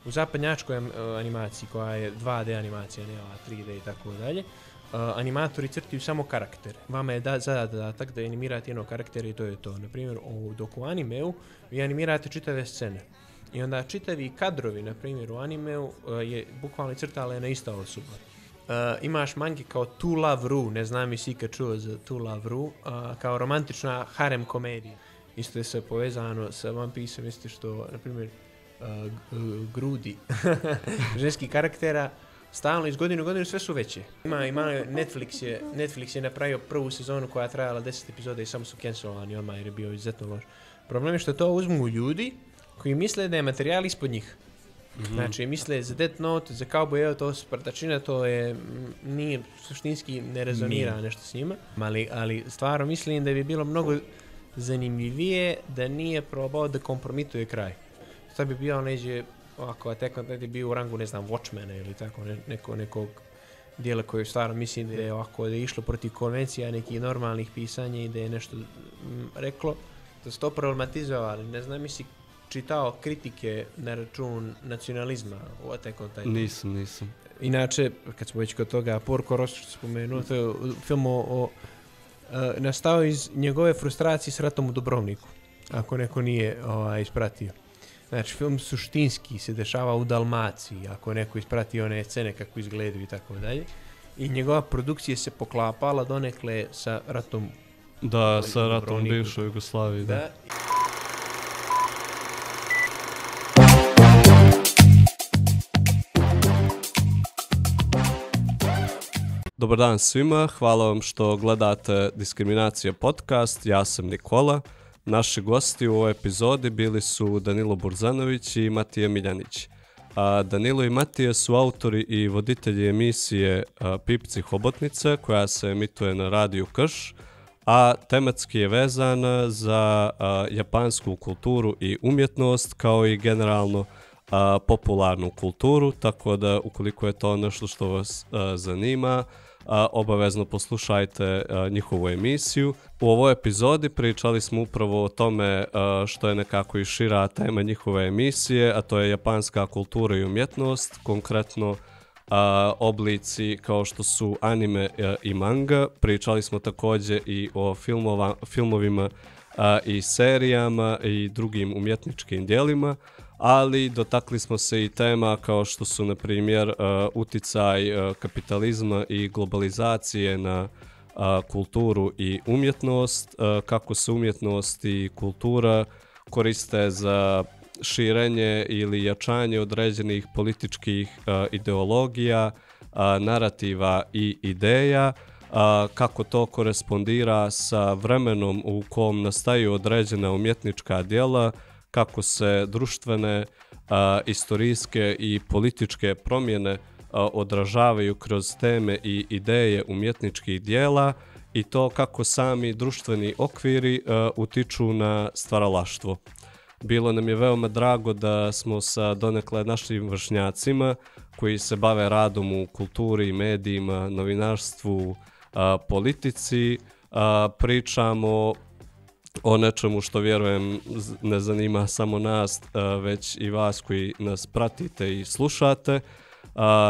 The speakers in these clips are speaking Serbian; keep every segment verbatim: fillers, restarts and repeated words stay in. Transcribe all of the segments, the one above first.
u zapadnjačkoj animaciji koja je dva D animacija, ne ova tri D i tako dalje, Uh, animatori crtaju samo karaktere. Vama je da, zadatak da animirate jednog karaktera i to je to. Naprimjer, u, dok u animeu vi animirate čitave scene. I onda čitavi kadrovi, na primjer, u animeu uh, je bukvalno crtala na ista osoba. Uh, imaš mangi kao To Love Ru, ne znam i si kad čuo za To Love Ru, uh, kao romantična harem komedija. Isto je sve povezano sa One Piece-om, isto što, na primjer, uh, grudi ženskih karaktera stalno iz godine u godinu sve su veće. Ima, ima Netflix je, Netflix je napravio prvu sezonu koja je trajala deset epizoda i samo su cancelovani odmah jer je bio izuzetno loš. Problem je što to uzmu ljudi koji misle da je materijal ispod njih. Mm-hmm. Znači, misle za Death Note, za Cowboy, evo to Spartačina, to je, nije, suštinski ne rezonira nije. Nešto s njima. Ali, ali stvarno mislim da bi bilo mnogo zanimljivije da nije probao da kompromituje kraj. To bi bio neđe ovako, Attack on Titan je bio u rangu, ne znam, Watchmena ili tako, ne, neko, nekog dijela koji stvarno mislim da je ovako, da je išlo protiv konvencija nekih normalnih pisanja i da je nešto m, reklo, da se to problematizovali. Ne znam, mi si čitao kritike na račun nacionalizma u Attack on Titan. Nisam, nisam. Inače, kad smo već kod toga, Porco Rosso što spomenuo, to je film o, o uh, nastao iz njegove frustracije s ratom u Dubrovniku, ako neko nije ovaj, ispratio. Znači, film suštinski se dešava u Dalmaciji, ako neko isprati one scene kako izgledaju i tako dalje. I njegova produkcija se poklapala donekle sa ratom. Da, sa ratom u bivšoj Jugoslaviji, da. da. Dobar dan svima, hvala vam što gledate Diskriminacija podcast, ja sam Nikola. Naši gosti u ovoj epizodi bili su Danilo Burzanović i Matija Miljanić. A Danilo i Matija su autori i voditelji emisije a, Pipci Hobotnice koja se emituje na radiju Krš, a tematski je vezana za a, japansku kulturu i umjetnost kao i generalno a, popularnu kulturu, tako da ukoliko je to nešto što vas a, zanima, A, obavezno poslušajte a, njihovu emisiju. U ovoj epizodi pričali smo upravo o tome a, što je nekako i šira tema njihove emisije, a to je japanska kultura i umjetnost, konkretno a, oblici kao što su anime a, i manga. Pričali smo također i o filmova, filmovima a, i serijama i drugim umjetničkim dijelima, ali dotakli smo se i tema kao što su, na primjer, uh, uticaj uh, kapitalizma i globalizacije na uh, kulturu i umjetnost, uh, kako se umjetnost i kultura koriste za širenje ili jačanje određenih političkih uh, ideologija, uh, narativa i ideja, uh, kako to korespondira sa vremenom u kom nastaju određena umjetnička djela, kako se društvene, a, istorijske i političke promjene a, odražavaju kroz teme i ideje umjetničkih dijela i to kako sami društveni okviri a, utiču na stvaralaštvo. Bilo nam je veoma drago da smo sa donekle našim vršnjacima koji se bave radom u kulturi, medijima, novinarstvu, a, politici, a, pričamo o nečemu što vjerujem ne zanima samo nas, već i vas koji nas pratite i slušate.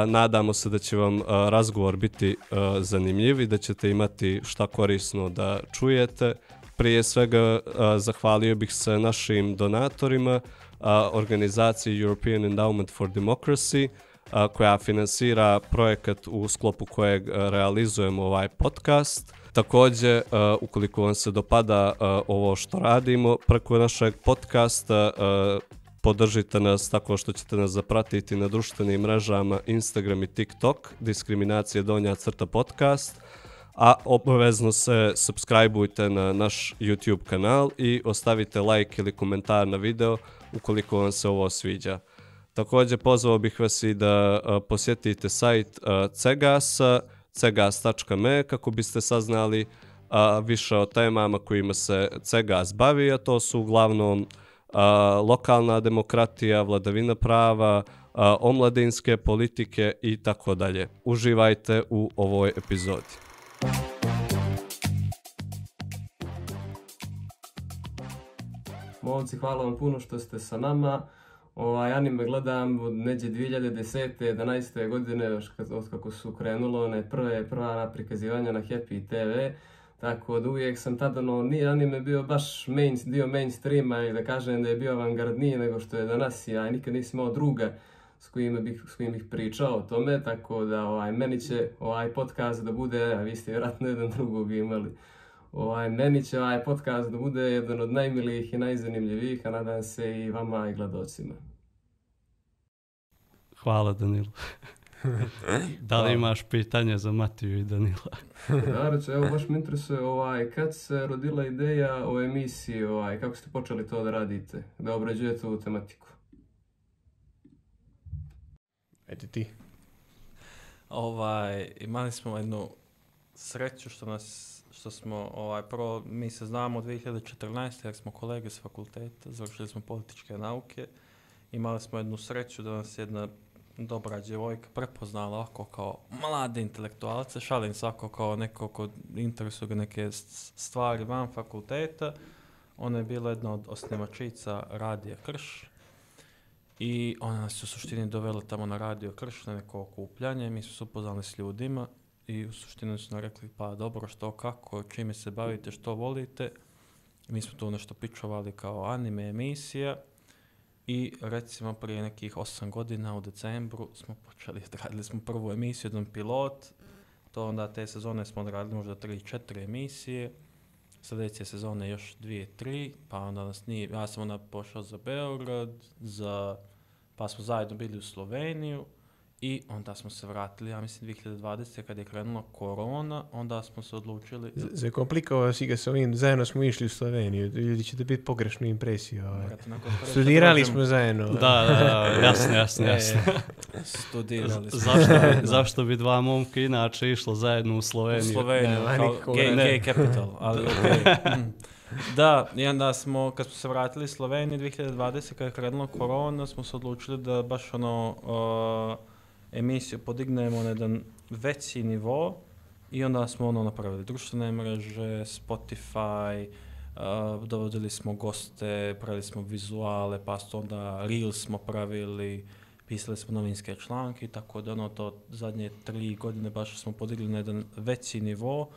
Nadamo se da će vam razgovor biti zanimljiv i da ćete imati šta korisno da čujete. Prije svega zahvalio bih se našim donatorima, organizaciji European Endowment for Democracy, koja finansira projekat u sklopu kojeg realizujemo ovaj podcast. Također, uh, ukoliko vam se dopada uh, ovo što radimo preko našeg podcasta, uh, podržite nas tako što ćete nas zapratiti na društvenim mrežama Instagram i TikTok, Diskriminacija donja crta podcast, a obavezno se subscribeujte na naš YouTube kanal i ostavite like ili komentar na video ukoliko vam se ovo sviđa. Također, pozvao bih vas i da uh, posjetite sajt uh, Cegasa, cegas tačka me kako biste saznali a, više o temama kojima se Cegas bavi, a to su uglavnom a, lokalna demokratija, vladavina prava, a, omladinske politike i tako dalje. Uživajte u ovoj epizodi. Momci, hvala vam puno što ste sa nama Ovaj anime gledam od neđe dvije hiljade desete jedanaeste godine, još kad, od kako su krenulo one prve, prva prikazivanja na Happy te ve. Tako da uvijek sam tada, no, nije anime bio baš main, dio mainstreama i da kažem da je bio avangardniji nego što je danas. Ja nikad nisam imao druga s kojim bih, s kojim bih pričao o tome, tako da ovaj, meni će ovaj podcast da bude, a vi ste vjerojatno jedan drugog imali, ovaj, meni će ovaj podcast da bude jedan od najmilijih i najzanimljivijih, a nadam se i vama i gledocima. Hvala Danilo. Da li imaš pitanje za Matiju i Danila? Da, reći, evo baš me interesuje ovaj, kad se rodila ideja o emisiji, ovaj, kako ste počeli to da radite, da obrađujete ovu tematiku? Ajde ti. Ovaj, imali smo jednu sreću što nas što smo, ovaj, prvo, mi se znamo od dvije hiljade četrnaeste jer smo kolege s fakulteta, završili smo političke nauke. Imali smo jednu sreću da nas jedna dobra djevojka prepoznala ovako kao mlade intelektualce, šalim svako kao neko ko interesuje ga neke stvari van fakulteta. Ona je bila jedna od osnivačica Radija Krš i ona nas u suštini dovela tamo na Radio Krš na neko okupljanje. Mi smo se upoznali s ljudima i u suštini su nam rekli pa dobro, što, kako, čime se bavite, što volite. Mi smo tu nešto pičovali kao anime emisija i recimo prije nekih osam godina u decembru smo počeli, radili smo prvu emisiju, jedan pilot. To onda te sezone smo radili možda tri, četiri emisije. Sljedeće sezone još dvije, tri, pa onda nas nije, ja sam onda pošao za Beograd, za, pa smo zajedno bili u Sloveniju. I onda smo se vratili, ja mislim, dvije hiljade dvadesete kad je krenula korona, onda smo se odlučili... Z- Zakomplikovao si ga s ovim, zajedno smo išli u Sloveniju, ljudi ćete biti pogrešnu impresiju. Ovaj. Studirali smo zajedno. Da, da, da, jasno, jasno, jasno. Studirali smo. Zašto, zašto bi dva momka inače išlo zajedno u Sloveniju? U Sloveniju, Ne, kao niko, gay, ne. gay capital, ali okej. Okay. Mm. Da, i onda smo, kad smo se vratili iz Slovenije dvije hiljade dvadesete kad je krenula korona, smo se odlučili da baš ono... Uh, emisiju podignemo na jedan veći nivo i onda smo ono napravili društvene mreže, Spotify, uh, dovodili smo goste, pravili smo vizuale, pa onda Reels smo pravili, pisali smo novinske članke, tako da ono to zadnje tri godine baš smo podigli na jedan veći nivo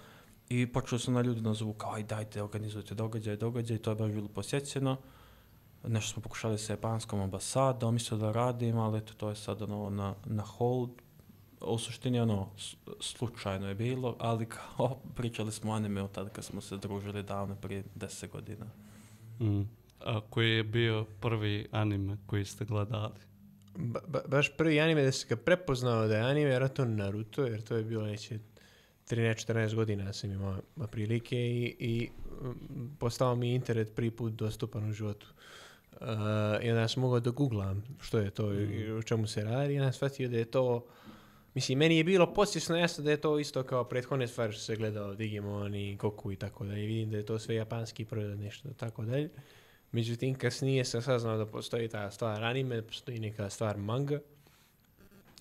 i počeli su na ljudi nazovu kao aj dajte, organizujte događaj, događaj, to je baš bilo posjećeno. Nešto smo pokušali sa japanskom ambasadom, mislio da radim, ali eto, to je sad ono na, na hold. U suštini ono, slučajno je bilo, ali kao pričali smo o anime od tada kad smo se družili davno prije deset godina. Mm. A koji je bio prvi anime koji ste gledali? Ba, ba, baš prvi anime da se ga prepoznao da je anime, jer to Naruto, jer to je bilo neće trinaest četrnaest godina sam imao prilike i, i postao mi internet prvi put dostupan u životu. Uh, I onda sam mogao da googlam što je to mm. i o čemu se radi i onda shvatio da je to, mislim, meni je bilo podsvjesno jasno da je to isto kao prethodne stvari što se gledao Digimon i Goku i tako dalje. Vidim da je to sve japanski proizvod, nešto tako dalje. Međutim, kasnije sam saznao da postoji ta stvar anime, postoji neka stvar manga.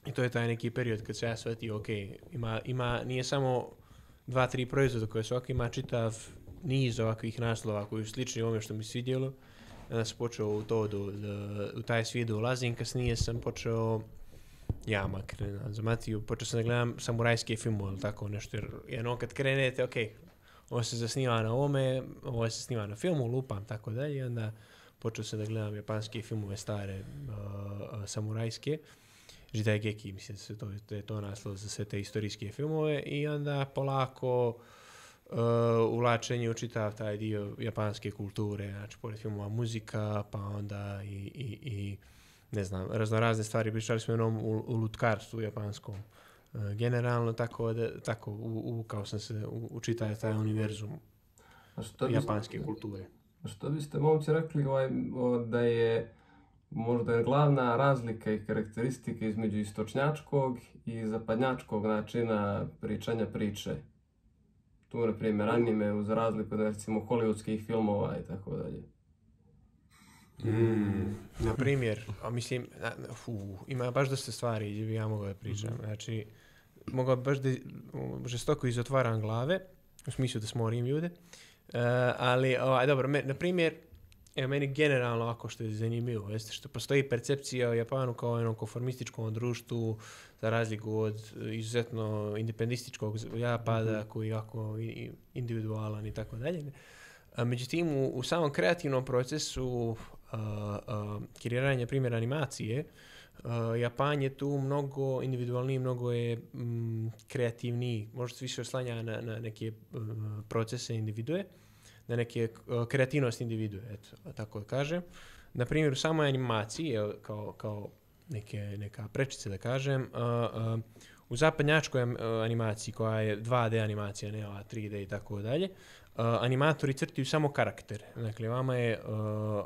I to je taj neki period kad se ja shvatio, ok, ima, ima, nije samo dva, tri proizvoda koje su ovako, ima čitav niz ovakvih naslova koji su slični ovome što mi svidjelo. Onda sam počeo u to, do, do, u taj svijet da ulazim, kasnije sam počeo, ja makar, za Matiju, počeo sam da gledam samurajske filmove ili tako nešto, jer jedno kad krenete, ok, ovo se zasniva na ovome, ovo se snima na filmu, lupam, tako dalje, onda počeo sam da gledam japanske filmove stare, uh, samurajske, Jidaigeki, mislim da se to, da je to naslov za sve te istorijske filmove i onda polako uh, uvlačenje u čitav taj dio japanske kulture, znači pored filmova muzika, pa onda i, i, i ne znam, raznorazne stvari, pričali smo jednom u, u lutkarstvu japanskom. Uh, generalno, tako da, tako, uvukao sam se u, u čitav taj univerzum japanske kulture. Što biste, momci, rekli ovaj, o, da je možda je glavna razlika i karakteristika između istočnjačkog i zapadnjačkog načina pričanja priče? Tu, na primjer, anime uz razliku od, recimo, hollywoodskih filmova i tako dalje. Mm. Na primjer, a mislim, fu, ima baš dosta stvari gdje bi ja mogao da pričam. Mm-hmm. Znači, mogao baš da žestoko izotvaram glave, u smislu da smorim ljude. Uh, ali, ovaj, dobro, me, na primjer, Evo, meni generalno ovako što je zanimljivo, jeste što postoji percepcija o Japanu kao jednom konformističkom društvu, za razliku od izuzetno independističkog Japada, mm-hmm. koji je jako individualan i tako dalje. Međutim, u, u samom kreativnom procesu a, a, kreiranja primjera animacije, a, Japan je tu mnogo individualniji, mnogo je m, kreativniji, možda se više oslanja na, na neke m, procese individue, na neke uh, kreativnost individue, eto, tako da kažem. Na primjer, u samoj animaciji, kao, kao neke, neka prečice da kažem, uh, uh, u zapadnjačkoj uh, animaciji, koja je dva D animacija, ne ova tri D i tako dalje, uh, animatori crtaju samo karaktere. Dakle, vama je, uh,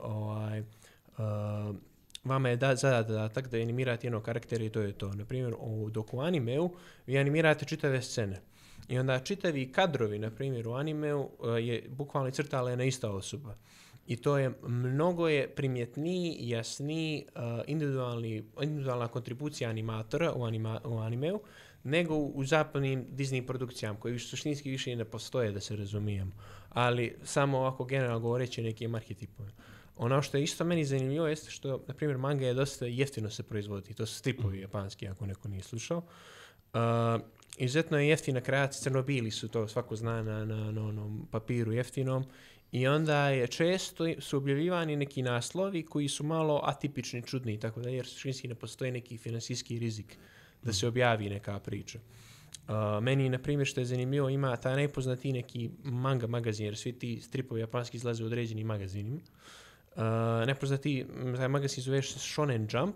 ovaj, uh, vama je da, zadatak da animirate jednog karaktera i to je to. Na primjer, u doku animeu vi animirate čitave scene. I onda čitavi kadrovi, na primjer, u animeu je bukvalno crtala jedna ista osoba. I to je, mnogo je primjetniji, jasniji, uh, individualni, individualna kontribucija animatora u, anima, u animeu, nego u, u zapadnim Disney produkcijama, koji suštinski više i ne postoje, da se razumijemo. Ali samo ovako generalno govoreći nekim arhetipom. Ono što je isto meni zanimljivo jeste što, na primjer, manga je dosta jeftino se proizvodi. To su stripovi japanski, ako neko nije slušao. Uh, Izuzetno je jeftina kreacija, crnobili su to, svako zna na, na, na onom papiru jeftinom. I onda je često su objavljivani neki naslovi koji su malo atipični, čudni, tako da jer suštinski ne postoji neki finansijski rizik da se objavi neka priča. Uh, meni, na primjer, što je zanimljivo, ima taj najpoznatiji neki manga magazin, jer svi ti stripovi japanski izlaze u određenim magazinima. Uh, najpoznatiji, taj magazin zove Shonen Jump,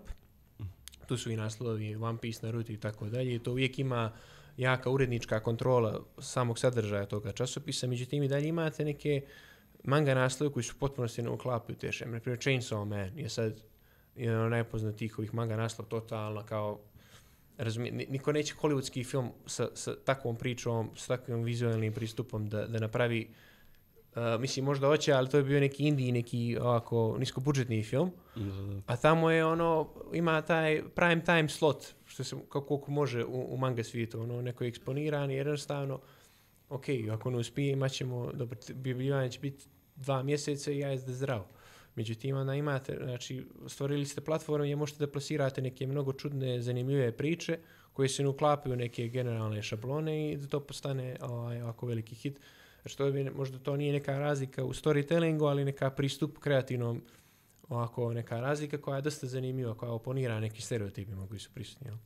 tu su i naslovi One Piece, Naruto i tako dalje, i to uvijek ima jaka urednička kontrola samog sadržaja toga časopisa, međutim i dalje imate neke manga naslove koji su potpuno se ne uklapaju te šeme. Naprimjer, Chainsaw Man je sad jedan od najpoznatijih ovih manga naslova, totalno kao, razumije, niko neće hollywoodski film sa, sa takvom pričom, sa takvim vizualnim pristupom da, da napravi, uh, mislim možda hoće, ali to je bio neki indie, neki ovako niskobudžetni film, mm-hmm. a tamo je ono, ima taj prime time slot, što se kako može u, u manga svijetu, ono neko je eksponiran, jednostavno, ok, ako ne uspije, imat ćemo, dobro, objavljivanje će biti dva mjeseca i ja je zdrav. Međutim, onda imate, znači, stvorili ste platformu gdje možete da plasirate neke mnogo čudne, zanimljive priče koje se ne uklapaju u neke generalne šablone i da to postane ovaj, ovako veliki hit. Znači, to bi, možda to nije neka razlika u storytellingu, ali neka pristup kreativnom, ovako neka razlika koja je dosta zanimljiva, koja oponira nekim stereotipima koji su prisutni. Jel?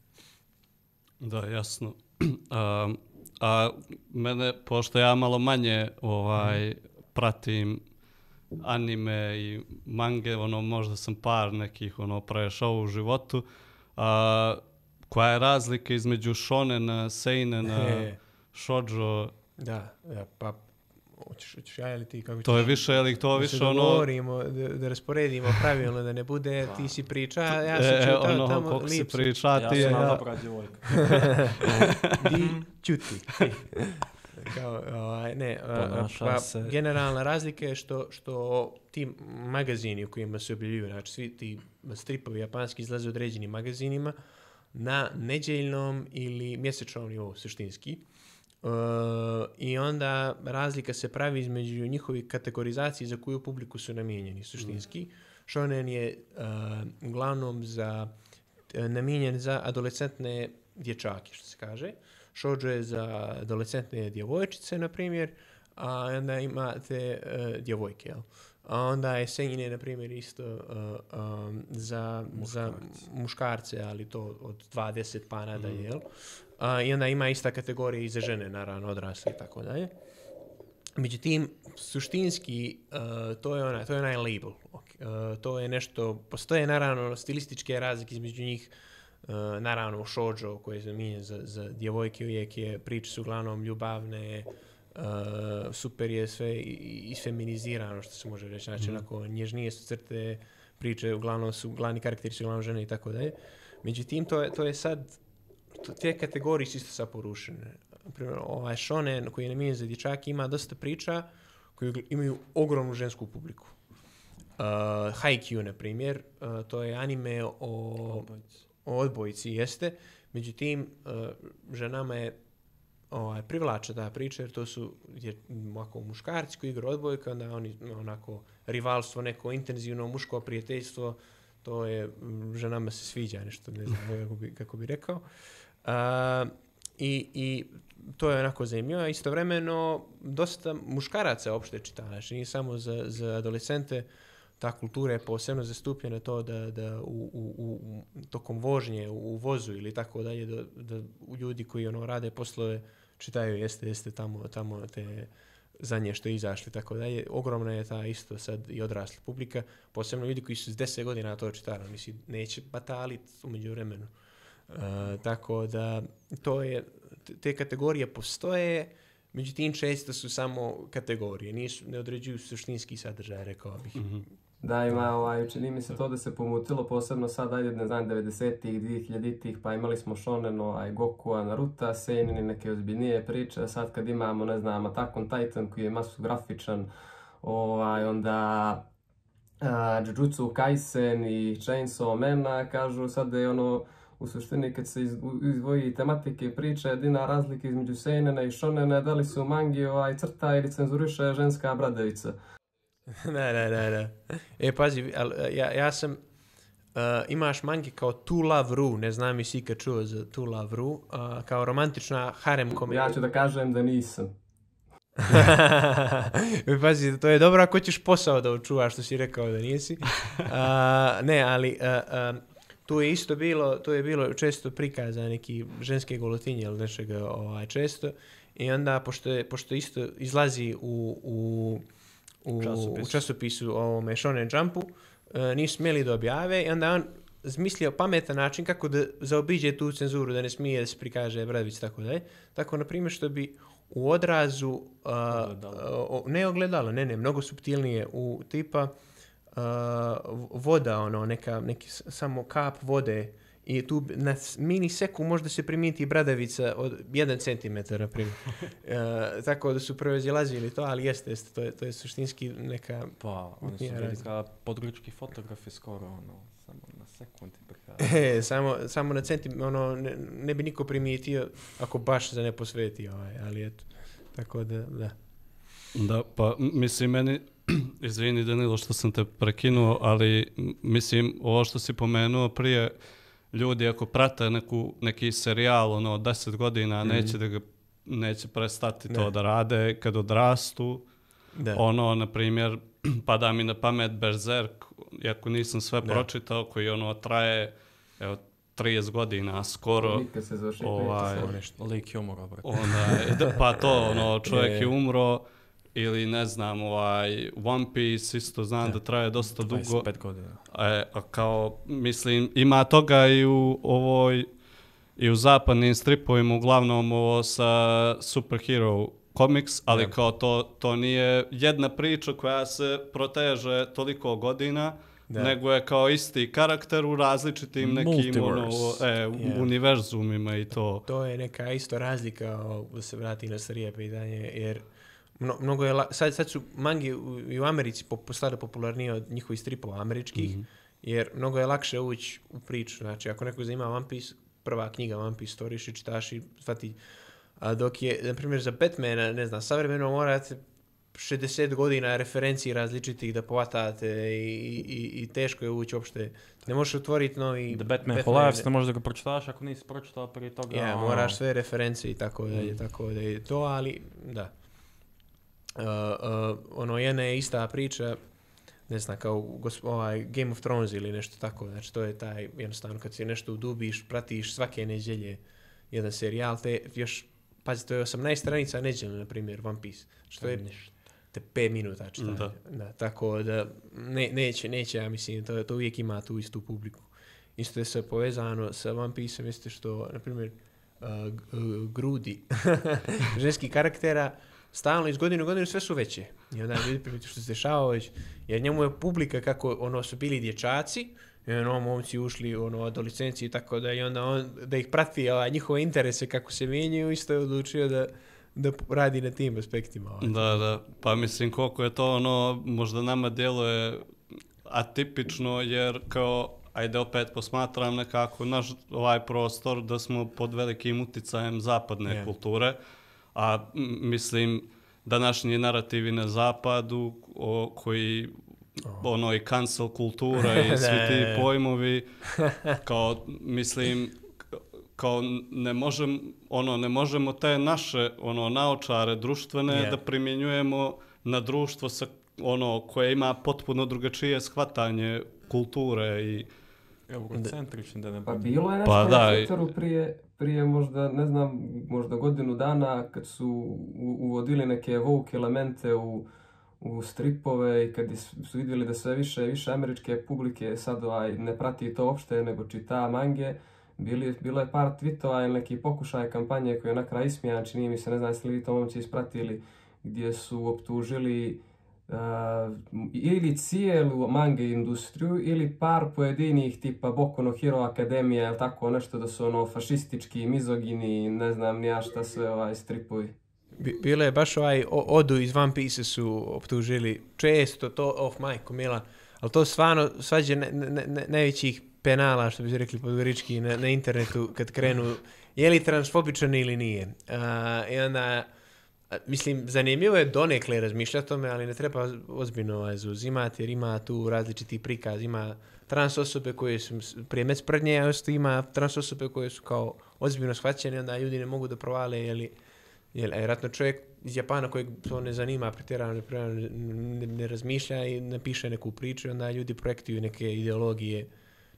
Da, jasno. um, a mene, pošto ja malo manje ovaj, pratim anime i mange, ono, možda sam par nekih ono, prešao u životu, a, koja je razlika između shonena, seinena, shoujo? Da, da, pa hoćeš, hoćeš ja ili ti? Kako to je više, ili to više da ono... Govorimo, da, da rasporedimo pravilno, da ne bude ti si priča, ja sam čuo tamo, ono, tamo koliko lip si priča, ti je... Ja sam ja. dobra djevojka. Di čuti. Kao, ovaj, ne, pa, generalna razlika je što, što ti magazini u kojima se objavljuju, znači svi ti stripovi japanski izlaze u određenim magazinima na nedjeljnom ili mjesečnom nivou suštinski. Uh, I onda razlika se pravi između njihovih kategorizacije za koju publiku su namijenjeni suštinski. Mm. Shonen je uh, uglavnom za, uh, namijenjen za adolescentne dječake, što se kaže. Shoujo je za adolescentne djevojčice, na primjer, a onda imate uh, djevojke, jel? A onda je seinen, na primjer, isto uh, um, za, za muškarce, ali to od dvadeset pa nadalje, mm. jel? Uh, I onda ima ista kategorija i za žene, naravno, odrasle i tako dalje. Međutim, suštinski, uh, to je onaj, to je onaj label. Okay. Uh, to je nešto, postoje naravno stilističke razlike između njih. Uh, naravno, shoujo koji je zamijenjen za, za djevojke uvijek je, priče su uglavnom ljubavne, uh, super je sve isfeminizirano, što se može reći. Znači, mm. onako, nježnije su crte, priče uglavnom su, glavni karakteri su uglavnom žene i tako dalje. Međutim, to je, to je sad, to, te kategorije su isto sad porušene. Primjer, ovaj shonen koji je namijenjen za dječake ima dosta priča koji imaju ogromnu žensku publiku. Uh, Haikyuu, na primjer, uh, to je anime o, o odbojici, jeste. Međutim, uh, ženama je ovaj, privlače ta priča, jer to su jer, ovako, muškarci koji igraju odbojka, onda oni onako rivalstvo, neko intenzivno muško prijateljstvo, to je, ženama se sviđa nešto, ne znam kako bi, kako bi rekao. A, i, I to je onako zanimljivo, a istovremeno dosta muškaraca uopšte čita, znači nije samo za, za adolescente, ta kultura je posebno zastupljena to da, da u, u, u, tokom vožnje u vozu ili tako dalje, da, da ljudi koji ono rade poslove čitaju jeste, jeste tamo, tamo te zadnje što je izašli tako dalje. Ogromna je ta isto sad i odrasla publika, posebno ljudi koji su s deset godina to čitali, misli, neće batalit umeđu vremenu. Uh, tako da to je, te kategorije postoje, međutim često su samo kategorije, nisu, ne određuju suštinski sadržaj, rekao bih. Mm-hmm. Da, ima, ovaj, čini mi se to da se pomutilo, posebno sad, ajde, ne znam, devedesetih, dvije hiljaditih, pa imali smo Shonen, ovaj, Gokua, Naruta, Seinen i neke ozbiljnije priče, sad kad imamo, ne znam, Attack on Titan koji je masu grafičan, ovaj, onda uh, Jujutsu Kaisen i Chainsaw Man, kažu sad da je ono, u suštini kad se izdvoji tematike priče, jedina razlika između Seinena i Shonena, da li su mangi ovaj, crta ili cenzuriše ženska bradavica. Da, da, da, da. E, pazi, al, ja, ja sam, uh, imaš mangi kao To Love Ru, ne znam jesi ikad čuo za To Love Ru, uh, kao romantična harem komedija. Ja ću da kažem da nisam. E, pazi, to je dobro ako ćeš posao da očuvaš što si rekao da nisi. Uh, ne, ali uh, uh, tu je isto bilo, to je bilo često prikaza neki ženske golotinje ili nečega ovaj, često. I onda, pošto, je, pošto isto izlazi u... u U, Časopis. u časopisu ovome Shonen Jumpu, uh, nisu smjeli da objave i onda on zmislio pametan način kako da zaobiđe tu cenzuru, da ne smije da se prikaže bradavica tako dalje. Tako, na primjer, što bi u odrazu, uh, ogledalo. uh, ne ogledalo, ne, ne, mnogo suptilnije, u tipa uh, voda, ono, neka, neki samo kap vode i tu na miniseku možda se primijeti bradavica od jedan centimetar, na primjer. e, tako da su prevezilazili to, ali jeste, jeste, to je, to je suštinski neka... Pa, oni su bili kao područki fotografi skoro, ono, samo na sekundi prikazali. E, samo, samo na centimetar, ono, ne, ne bi niko primijetio ako baš se ne posveti, ovaj, ali eto, tako da, da. Da, pa mislim meni, izvini Danilo što sam te prekinuo, ali mislim ovo što si pomenuo prije, ljudi ako prate neku, neki serijal ono, deset godina, mm-hmm. neće, da ga, neće prestati ne. to da rade kad odrastu. Da. Ono, na primjer, pada mi na pamet Berserk, iako nisam sve da. pročitao, koji ono traje evo, trideset godina skoro. Nikad se završi ovaj, lik je umro, brate. Onda, pa to, ono, čovjek je, je umro, ili ne znam, ovaj, One Piece isto znam da, da traje dosta dugo. dvadeset pet godina. E, a kao, mislim, ima toga i u ovoj, i u zapadnim stripovima, uglavnom ovo sa superhero comics, ali ja. kao to, to nije jedna priča koja se proteže toliko godina, da. nego je kao isti karakter u različitim nekim ono, e, yeah. univerzumima i to. To je neka isto razlika, da se vrati na starije pitanje, jer Mno, mnogo je la, sad, sad su mangi u, i u Americi postale popularnije od njihovih stripova američkih, mm-hmm. jer mnogo je lakše ući u priču. Znači, ako neko zanima One Piece, prva knjiga One Piece storiš i čitaš i shvati. A dok je, na primjer, za Batmana, ne znam, savremeno morate šezdeset godina referenciji različitih da povatate i, i, i teško je ući uopšte. Ne možeš otvoriti novi... The Batman, Batman for Life, ne možeš da ga pročitaš ako nisi pročitao prije toga. Ja, yeah, moraš sve referencije i tako da je, mm. tako da je to, ali da. Uh, uh, ono jedna je ista priča, ne znam, kao gosp- ovaj Game of Thrones ili nešto tako, znači to je taj, jednostavno kad se nešto udubiš, pratiš svake nedjelje jedan serijal, te još, pazi, to je osamnaest stranica nedjeljno, na primjer, One Piece, što je te pet minuta čitanje, da. Da, tako da ne, neće, neće, ja mislim, to, to uvijek ima tu istu publiku. Isto je se povezano sa One Piece-om, jeste što, na primjer, uh, grudi ženski karaktera, stalno iz godine u godinu sve su veće. I onda ljudi primiti što se dešava već, jer njemu je publika kako ono su bili dječaci, i ono momci ušli ono adolescenciji i tako da i onda on da ih prati ovaj, njihove interese kako se mijenjaju, isto je odlučio da da radi na tim aspektima. Ovaj. Da, da. Pa mislim koliko je to ono možda nama djeluje atipično jer kao ajde opet posmatram nekako naš ovaj prostor da smo pod velikim uticajem zapadne yeah. kulture. A m, mislim, današnji narativi na zapadu o, koji oh. ono i cancel kultura i svi ti pojmovi kao mislim kao ne možem ono ne možemo te naše ono naočare društvene yeah. da primjenjujemo na društvo sa ono koje ima potpuno drugačije shvatanje kulture i eurocentrični da ne pa bilo je nešto pa, na Twitteru prije prije možda ne znam možda godinu dana kad su uvodili neke woke elemente u u stripove i kad su vidjeli da sve više i više američke publike sad ovaj, ne prati to uopšte nego čita mange, bili, bilo je par tweetova ili neki pokušaj kampanje koji je na kraju ismijan, čini mi se, ne znam jeste li vi to momci ispratili, gdje su optužili uh, ili cijelu mange industriju ili par pojedinih tipa Boku no Hero Akademija ili tako nešto da su ono fašistički, mizogini, ne znam nija šta sve ovaj stripovi. Bilo je baš ovaj Odu iz One Piece su optužili često to off mic Mila, ali to stvarno svađe ne, ne, ne, najvećih penala što bi se rekli podgorički na, na internetu kad krenu je li transfobičan ili nije. Uh, I onda mislim zanimljivo je donekle razmišljati o tome, ali ne treba ozbiljno ovaj, zauzimati jer ima tu različiti prikaz, ima trans osobe koje su prije sprednje, a ima trans osobe koje su kao ozbiljno shvaćene, onda ljudi ne mogu da provale je li Jer vjerojatno čovjek iz Japana kojeg to ne zanima, pretjerano ne, ne, ne razmišlja i napiše neku priču, onda ljudi projektuju neke ideologije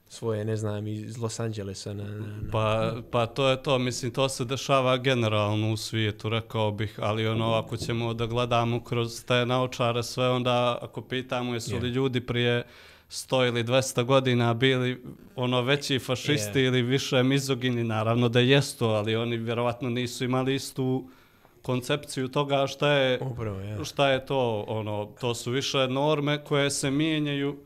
svoje, ne znam, iz Los Angelesa. Na, na, na... Pa, pa to je to, mislim, to se dešava generalno u svijetu, rekao bih, ali ono, ako ćemo da gledamo kroz te naočare sve, onda ako pitamo jesu li yeah. ljudi prije sto ili dvesta godina bili ono veći fašisti yeah. ili više mizogini, naravno da jesu, ali oni vjerovatno nisu imali istu koncepciju toga šta je, Upravo, ja. šta je to, ono, to su više norme koje se mijenjaju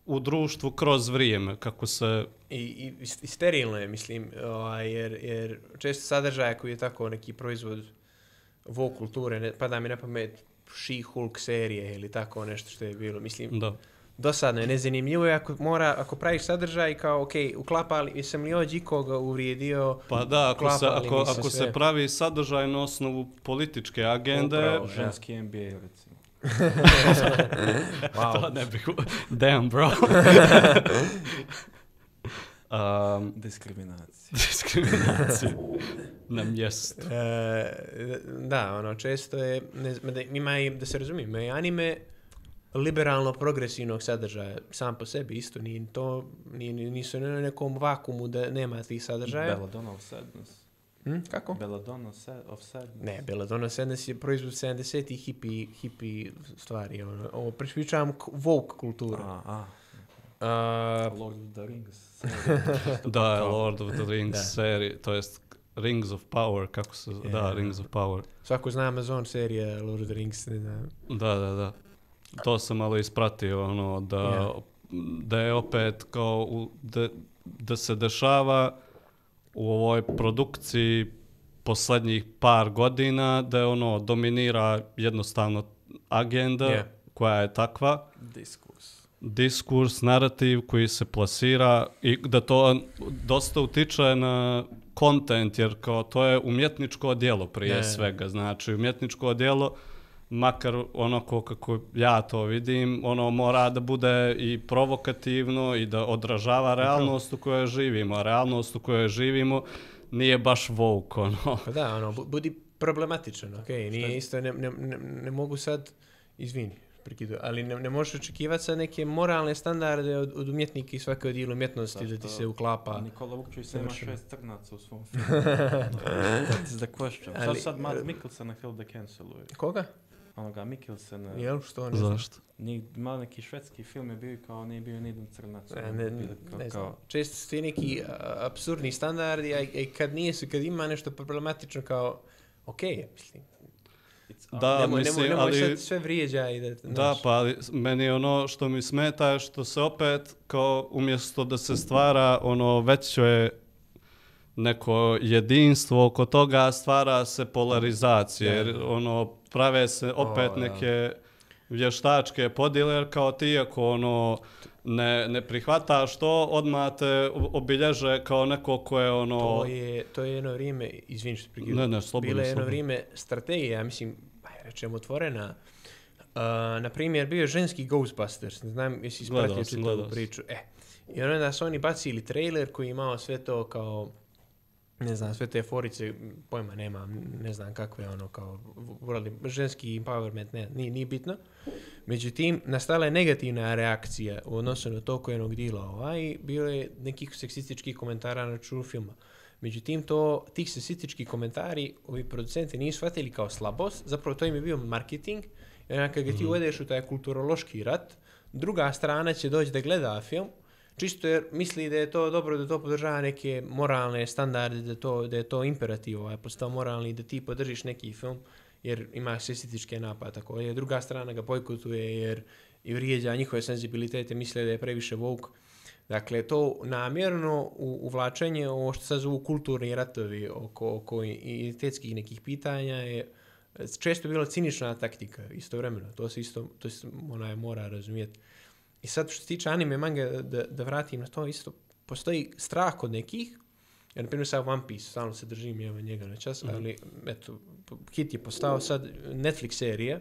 u društvu kroz vrijeme, kako se... I, i, i sterilno je, mislim, ovaj, jer, jer često sadržaja koji je tako neki proizvod woke kulture, ne, pada mi na pamet She-Hulk serije ili tako nešto što je bilo, mislim... Da. Dosadno je, nezanimljivo je ako, mora, ako praviš sadržaj kao, ok, uklapali, jesam li ođi koga uvrijedio, pa da, ako, se, ako, ako se pravi sadržaj na osnovu političke agende... Upravo, ženski N B A, recimo. Wow. To ne bih... Damn, bro. um, Diskriminacija. Diskriminacija. Na mjestu. E, da, ono, često je, ne, da, ima i, da se razumijem, ima anime liberalno progresivnog sadržaja sam po sebi isto nije to nije, nisu na nekom vakumu da nema tih sadržaja. Belladonna of Sadness. Hm? Kako? Belladonna of Sadness. Ne, Belladonna of Sadness je proizvod sedamdesetih hippie hippie stvari, ono. Ovo pričam woke kulturu. A, a. Uh, Lord of the Rings. Da, Lord of the Rings serija, to jest Rings of Power, kako se yeah. da, Rings of Power. Svako zna Amazon serija Lord of the Rings, ne znam. Da, da, da. To sam malo ispratio, ono, da, yeah. da je opet kao, u, da, da se dešava u ovoj produkciji posljednjih par godina, da je ono, dominira jednostavno agenda yeah. koja je takva. Diskurs. Diskurs, narativ koji se plasira i da to dosta utiče na content, jer kao to je umjetničko djelo prije yeah. svega, znači umjetničko djelo makar onako kako ja to vidim, ono mora da bude i provokativno i da odražava realnost u kojoj živimo. A realnost u kojoj živimo nije baš woke, ono. Pa da, ono, budi problematičan, okej, okay. Nije isto, ne, ne, ne, ne mogu sad, izvini, prekidu, ali ne, ne možeš očekivati sad neke moralne standarde od, od umjetnika i svake od dijelu umjetnosti da ti se uklapa. Nikola Vukčević se ima šest crnaca u svom filmu. That is the question. Ali, sad sad Mads Mikkelsen htjeli da canceluje. Koga? Onoga Mikkelsen. Jel, što ne znam? Zašto? Malo neki švedski film je bio kao nije bio nijedan crnac. Ne, ne, ne, kao, ne znam. Često su ti neki apsurdni standardi, a i kad nije su, kad ima nešto problematično kao, okej, okay, mislim. Da, nemoj, mislim, nemoj, nemoj ali... sad sve vrijeđa i da... Da, pa ali meni ono što mi smeta je što se opet, kao umjesto da se stvara ono veće neko jedinstvo oko toga, stvara se polarizacija, jer ono prave se opet oh, neke vještačke podjele, jer kao ti ako ono ne, ne prihvataš to, odmah te obilježe kao neko ko je ono... To je, to je jedno vrijeme, izvini što prekidam, Ne, ne, slobodno, bilo je jedno slobodno. vrijeme strategija, ja mislim, aj, rečemo otvorena. Uh, na primjer, bio je ženski Ghostbusters, ne znam jesi Gledao ispratio sam, čitavu gledao sam. priču. E, i onda su oni bacili trailer koji je imao sve to kao, ne znam, sve te forice, pojma nemam, ne znam kakve ono kao, vorali, ženski empowerment, ne, nije, nije bitno. Međutim, nastala je negativna reakcija u odnosu na to koje jednog dila ovaj, bilo je nekih seksističkih komentara na računu filma. Međutim, to, tih seksističkih komentari ovi producenti nisu shvatili kao slabost, zapravo to im je bio marketing, i onda kad ga ti uvedeš u taj kulturološki rat, druga strana će doći da gleda film, čisto jer misli da je to dobro, da to podržava neke moralne standarde, da, to, da je to imperativ, ovaj, postao moralni, da ti podržiš neki film, jer ima seksističke napade, tako je. Druga strana ga bojkotuje jer i vrijeđa njihove senzibilitete, misle da je previše woke. Dakle, to namjerno u, uvlačenje, ovo što sad zovu kulturni ratovi oko, oko identitetskih nekih pitanja je često bila cinična taktika, istovremeno. To se isto, to se onaj mora razumjeti. I sad što se tiče anime manga, da, da vratim na to, isto postoji strah kod nekih, ja, na primjer sad One Piece, stalno se držim evo njega na čas, mm-hmm. ali eto, hit je postao sad Netflix serija,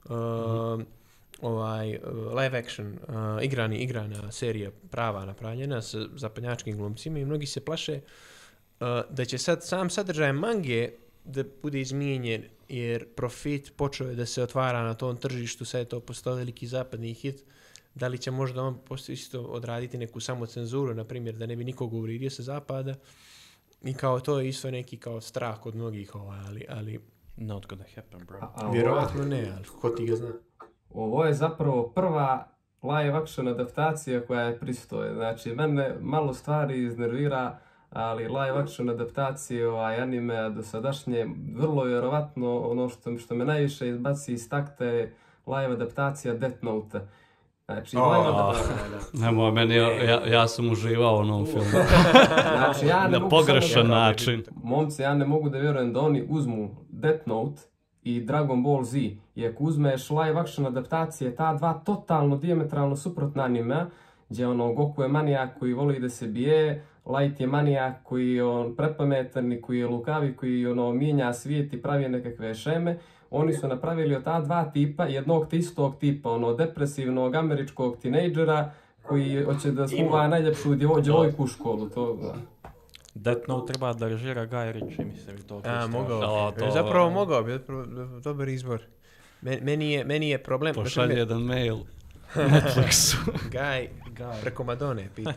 uh, mm-hmm. ovaj, uh, live action, uh, igrani, igrana serija prava napravljena sa zapadnjačkim glumcima i mnogi se plaše uh, da će sad sam sadržaj mange da bude izmijenjen jer profit počeo je da se otvara na tom tržištu, sad je to postao veliki zapadni hit. Da li će možda on isto odraditi neku samocenzuru, na primjer, da ne bi nikog uvrijedio sa zapada. I kao to je isto neki kao strah kod mnogih, ovaj, ali, ali Not gonna happen, bro. A, a vjerovatno ne, ali ko ti ga zna. Ovo je zapravo prva live action adaptacija koja je pristoje. Znači, mene malo stvari iznervira, ali live action adaptacije ovaj anime do sadašnje, vrlo vjerovatno ono što, što me najviše izbaci iz takta je live adaptacija Death Note. Znači, Oh, live adaptacija... Nemoj, meni, ja, ja sam uživao u onom filmu. Znači, ja ne Na mogu pogrešan samo... način. Momci, ja ne mogu da vjerujem da oni uzmu Death Note i Dragon Ball Z. I ako uzmeš live action adaptacije, ta dva totalno dijametralno suprotna anime, gdje ono Goku je manijak koji voli da se bije, Light je manijak koji je on prepametan i koji je lukavi, koji ono mijenja svijet i pravi nekakve šeme. Oni su napravili od ta dva tipa, jednog te istog tipa, ono depresivnog američkog tinejdžera koji hoće da smuva najljepšu djevojku u školu. To, da. Death Note treba da režira Guy Ritchie, mislim i to. A, mogao O, bi. to- Zapravo mogao bi, dobar izbor. Men- Meni je, meni je problem... Pošalje jedan mail Netflixu. Guy, preko Madone pita.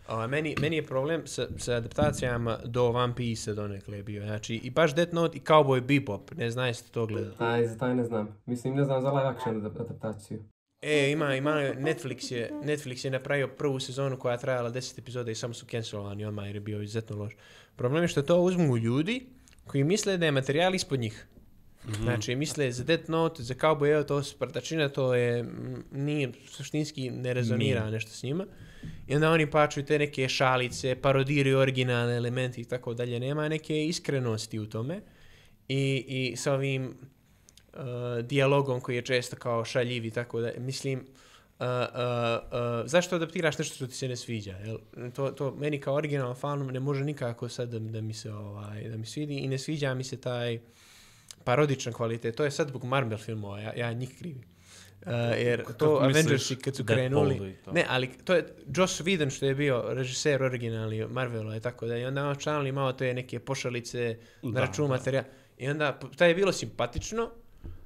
O, meni, meni je problem sa, sa adaptacijama do One Piece donekle bio. Znači, i baš Death Note i Cowboy Bebop. Ne znam jeste to gledali. Taj, za taj ne znam. Mislim, ne znam za live action adaptaciju. E, ima, ima, Netflix je, Netflix je napravio prvu sezonu koja je trajala deset epizoda i samo su cancelovani odmah jer je bio izuzetno loš. Problem je što to uzmu ljudi koji misle da je materijal ispod njih. Mm-hmm. Znači, misle za Death Note, za Cowboy, evo to sprtačina, to je, m, nije, suštinski ne rezonira nije. Nešto s njima. I onda oni pačuju te neke šalice, parodiraju originalne elemente i tako dalje. Nema neke iskrenosti u tome. I, i sa ovim uh, dijalogom koji je često kao šaljiv i tako da, mislim, uh, uh, uh, zašto adaptiraš nešto što ti se ne sviđa? Jel? To, to meni kao original fan ne može nikako sad da, da mi se ovaj, da mi svidi i ne sviđa mi se taj parodičan kvalitet. To je sad zbog Marvel filmova, ja, ja njih krivim. Uh, jer Kako to misliš? Avengersi kad su krenuli... Ne, ali to je Joss Whedon što je bio režiser originalni Marvela i tako da. I onda on članili malo te neke pošalice na Da, račun da. materijala. I onda taj je bilo simpatično,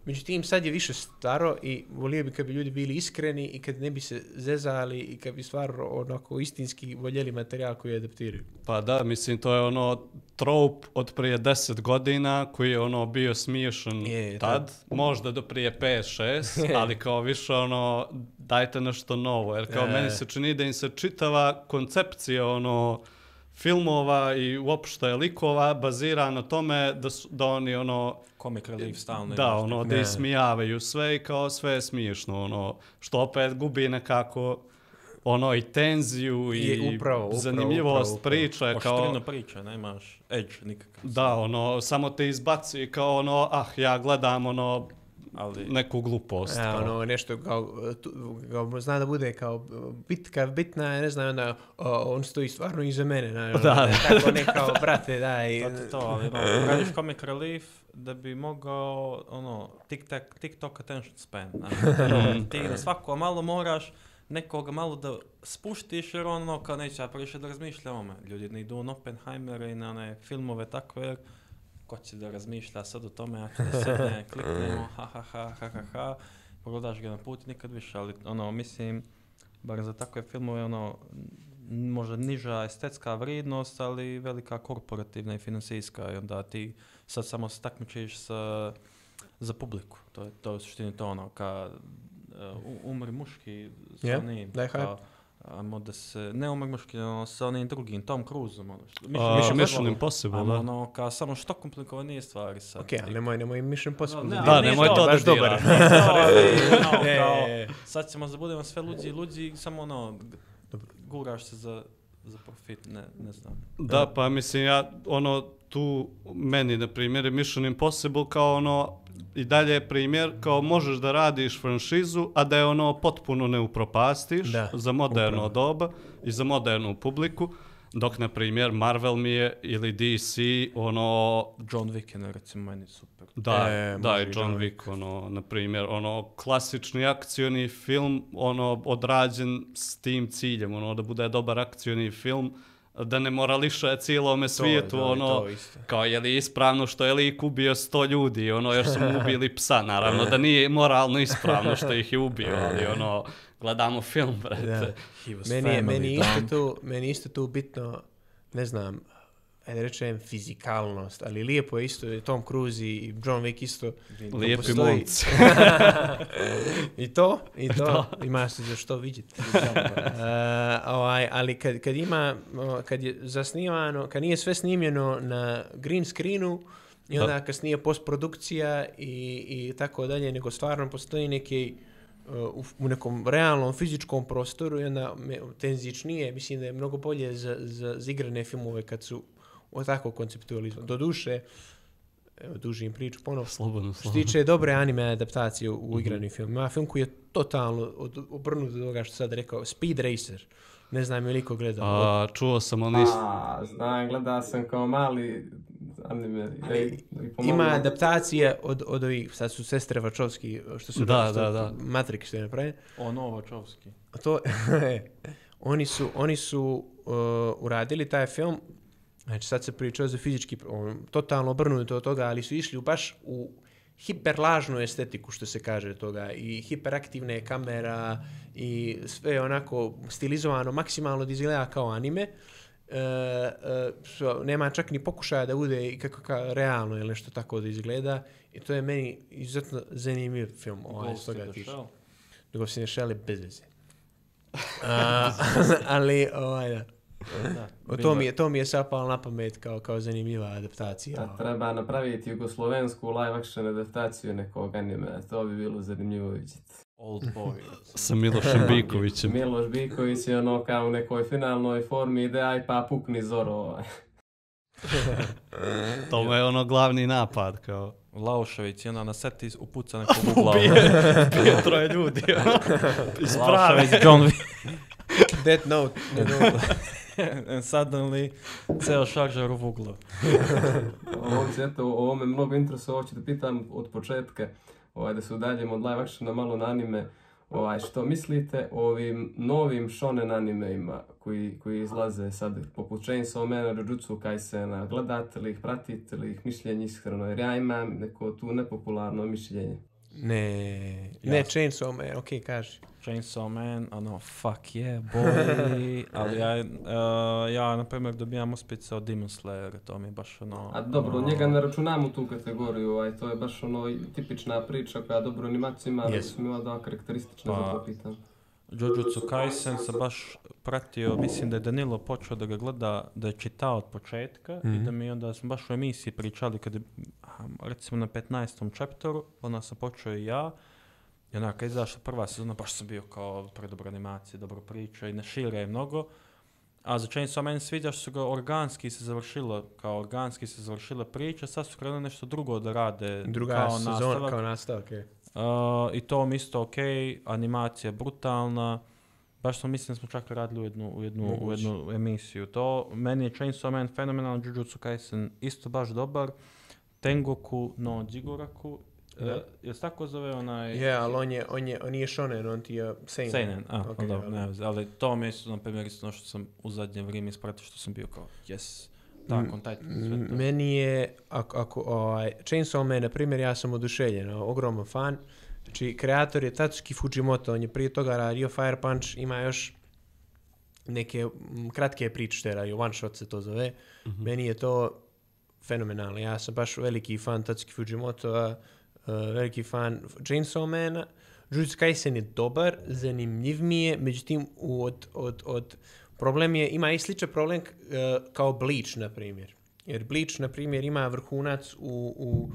međutim sad je više staro i volio bi kad bi ljudi bili iskreni i kad ne bi se zezali i kad bi stvarno onako istinski voljeli materijal koji adaptiraju. Pa da, mislim, to je ono trope od prije deset godina koji je ono bio smiješan Je, tad, tad. možda do prije pet šest, ali kao više ono, dajte nešto novo, jer kao E. meni se čini da im se čitava koncepcija ono filmova i uopšte likova bazira na tome da, su, da oni ono Comic relief stalno. da, imaš ono, neki- da Ne. ismijavaju sve i kao sve je smiješno, ono, što opet gubi nekako ono i tenziju i Je, upravo, upravo, zanimljivost upravo, upravo. priče, kao Oštrinu priča, nemaš edge nikakav. da, ono, samo te izbaci kao ono, ah, ja gledam ono ali... neku glupost. A, kao. ono, nešto kao, tu, kao, zna da bude kao bitka, bitna, ne znam, onda o, on stoji stvarno iza mene, na, ono, Da, da. tako ne kao, brate, daj. To ti to, ali no, radiš comic relief da bi mogao, ono, TikTok, TikTok attention span. Znači, ti na svako malo moraš nekoga malo da spuštiš, jer ono, kao neće ja previše da razmišlja o ome. Ljudi ne idu na Oppenheimera i na one filmove takve, jer ko će da razmišlja sad o tome, ja ću da sedne, kliknemo, ha ha ha ha ha ha, pogledaš ga na put i nikad više, ali ono, mislim, bar za takve filmove, ono, možda niža estetska vrijednost, ali velika korporativna i financijska, i onda ti sad samo se takmičiš sa, za publiku, to je, to je u suštini to ono, kad uh, umri muški sa Yeah, onim, da je kao, ajmo da se, ne umri muški, ono, sa onim drugim, Tom Cruiseom, ono, što, A, Mission Mission Impossible, Ajmo, da. ono, kao samo što komplikovanije stvari sad. Ok, ali nemoj, nemoj Mission Impossible. Ne, Da, ali nemoj nije to da baš dobar. diraš. Nije to, ali, ono, Je, kao, je, je. sad ćemo da budemo sve luđi i luđi, samo ono, guraš se za, za profit, ne, ne znam. Da, pa mislim ja, ono, tu meni, na primjer, je Mission Impossible kao ono, i dalje je primjer, kao možeš da radiš franšizu, a da je ono potpuno ne upropastiš Da, za moderno upravo. doba i za modernu publiku, dok, na primjer, Marvel mi je ili D C, ono, John Wick je, recimo, meni super. da, E, da, može i i John John Wick, ono, na primjer, ono, klasični akcioni film, ono, odrađen s tim ciljem, ono, da bude dobar akcioni film, da ne morališe cijelome svijetu, da, i ono, to isto. kao je li ispravno što je lik ubio sto ljudi, ono, jer su mu ubili psa, naravno, da nije moralno ispravno što ih je ubio, ali, ono, gledamo film, brate. Da. He was Meni, je, family, meni, isto Dom. tu, meni isto tu bitno, ne znam, ajde rečem fizikalnost, ali lijepo je isto i Tom Cruise i John Wick isto. Lijepi postoji- momci. I to, i to, ima se za što vidjeti. uh, ovaj, ali kad, kad ima, o, kad je zasnimano, kad nije sve snimljeno na green screenu, i onda Da. kasnije postprodukcija i, i tako dalje, nego stvarno postoji neki uh, u, u nekom realnom fizičkom prostoru i onda me, tenzičnije, mislim da je mnogo bolje za, za, za igrane filmove kad su o tako konceptualizmu. Do duše, evo, dužim priču ponovno. Slobodno, Što slobodno. tiče dobre anime adaptacije u, u igrani film. Ima film koji je totalno od, obrnut od toga što sad rekao. Speed Racer. Ne znam je li ko gledao. A, čuo sam, ali nis... A, znam, gleda sam kao mali anime. Ali Ej, i pomoglo. Ima adaptacije od, od ovih, sad su sestre Vačovski, što su Da, što- da, da. Matrix što je napravio. Ono, Vačovski. A to, oni su, oni su uh, uradili taj film, znači sad se pričao za fizički, on, totalno obrnuto od toga, ali su išli u baš u hiperlažnu estetiku, što se kaže toga, i hiperaktivne kamera i sve onako stilizovano, maksimalno da izgleda kao anime. E, e, so, nema čak ni pokušaja da bude i kako ka, realno ili nešto tako da izgleda, i to je meni izuzetno zanimljiv film. Ovaj, Ghost s toga in the tiče. Shell. Ghost in the Shell je bez veze. A, ali, ovaj, da. Da, O, bilo to, mi je, to mi je sapalo na pamet kao, kao zanimljiva adaptacija. A treba napraviti jugoslovensku live action adaptaciju nekog anime, to bi bilo zanimljivo vidjeti. Old Boy. sa Milošem Bikovićem. Miloš Biković je ono kao u nekoj finalnoj formi ide, aj pa pukni Zoro. ovaj. To je ono glavni napad, kao... Laušević, i onda na seti upuca nekog u glavu. Pije troje ljudi, ono, iz prave. Laušević, John Wick. Death Note. Death Note. And suddenly, ceo šaržar u uglu. Ovo se eto, o ovome mnogo interesuje, hoću da pitam od početka, ovaj, da se udaljimo od live actiona malo na anime. Ovaj, što mislite o ovim novim shonen animeima koji, koji izlaze sad, poput Chainsaw Mana, Jujutsu Kaisena, gledate li ih, pratite li ih, mišljenje iskreno, jer ja imam neko tu nepopularno mišljenje. Ne, ne Chainsaw Man, okej, okay, kaži. Chainsaw Man, ono, fuck yeah, boy. Ali ja, uh, ja na primjer, dobijam uspice od Demon Slayer, to mi je baš ono... A dobro, ono, njega ne računamo tu kategoriju, ovaj, to je baš ono tipična priča koja dobro animaciju ima, ali Yes. su mi ova dva karakteristična, Pa, zato pitam. Jujutsu Kaisen sam baš pratio, mislim da je Danilo počeo da ga gleda, da je čitao od početka Mhm. i da mi onda smo baš u emisiji pričali kad je, aha, recimo na petnaestom chapteru, onda sam počeo i ja. I onako, kad je izašla prva sezona, baš sam bio kao predobra animacija, dobro priča i ne šire je mnogo. A za Chainsaw Man sviđa što su ga organski se završilo, kao organski se završila priča, sad su krenuli nešto drugo da rade Druga kao sezona, nastavak. kao nastavak, je. Uh, I to mi isto ok, animacija brutalna. Baš sam mislim da smo čak radili u jednu, u jednu, u jednu emisiju. To, meni je Chainsaw Man fenomenalan, Jujutsu Kaisen isto baš dobar. Tengoku no Jiguraku. Uh, jel se tako zove onaj... Je, ali on je, on je, on nije shonen, on ti je seinen. Seinen, a, okay, dobro, ali... ne veze. Ali to mi je isto, na primjer, isto ono što sam u zadnje vrijeme ispratio, što sam bio kao, yes, tako, taj sve to. Meni je, ako, ako ovaj, Chainsaw Man, na primjer, ja sam oduševljen, ogroman fan. Znači, kreator je Tatsuki Fujimoto, on je prije toga radio Fire Punch, ima još neke m, kratke priče što je radio, one shot se to zove. Mm-hmm. Meni je to fenomenalno. Ja sam baš veliki fan Tatsuki Fujimoto, uh, veliki fan Chainsaw Mana. Jujutsu Kaisen je dobar, zanimljiv mi je, međutim, od, od, od problem je, ima i sličan problem uh, kao Bleach, na primjer. Jer Bleach, na primjer, ima vrhunac u, u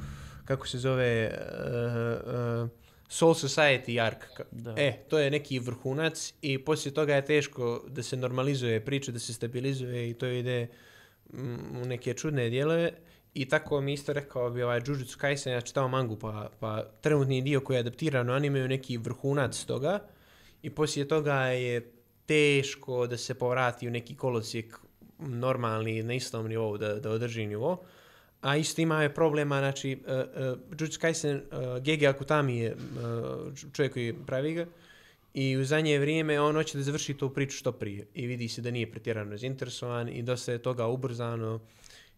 kako se zove, uh, uh, Soul Society arc. Da. E, to je neki vrhunac i poslije toga je teško da se normalizuje priča, da se stabilizuje i to ide mm, u neke čudne dijelove. I tako mi isto rekao bi ovaj Jujutsu Kaisen, ja čitao mangu, pa, pa trenutni dio koji je adaptiran, oni imaju neki vrhunac toga i poslije toga je teško da se povrati u neki kolosijek normalni, na istom nivou, da, da održi nivo. A isto ima je problema, znači, uh, uh, Jujutsu Kaisen, uh, Gege Akutami je uh, čovjek koji pravi ga i u zadnje vrijeme on hoće da završi tu priču što prije i vidi se da nije pretjerano zainteresovan i dosta je toga ubrzano.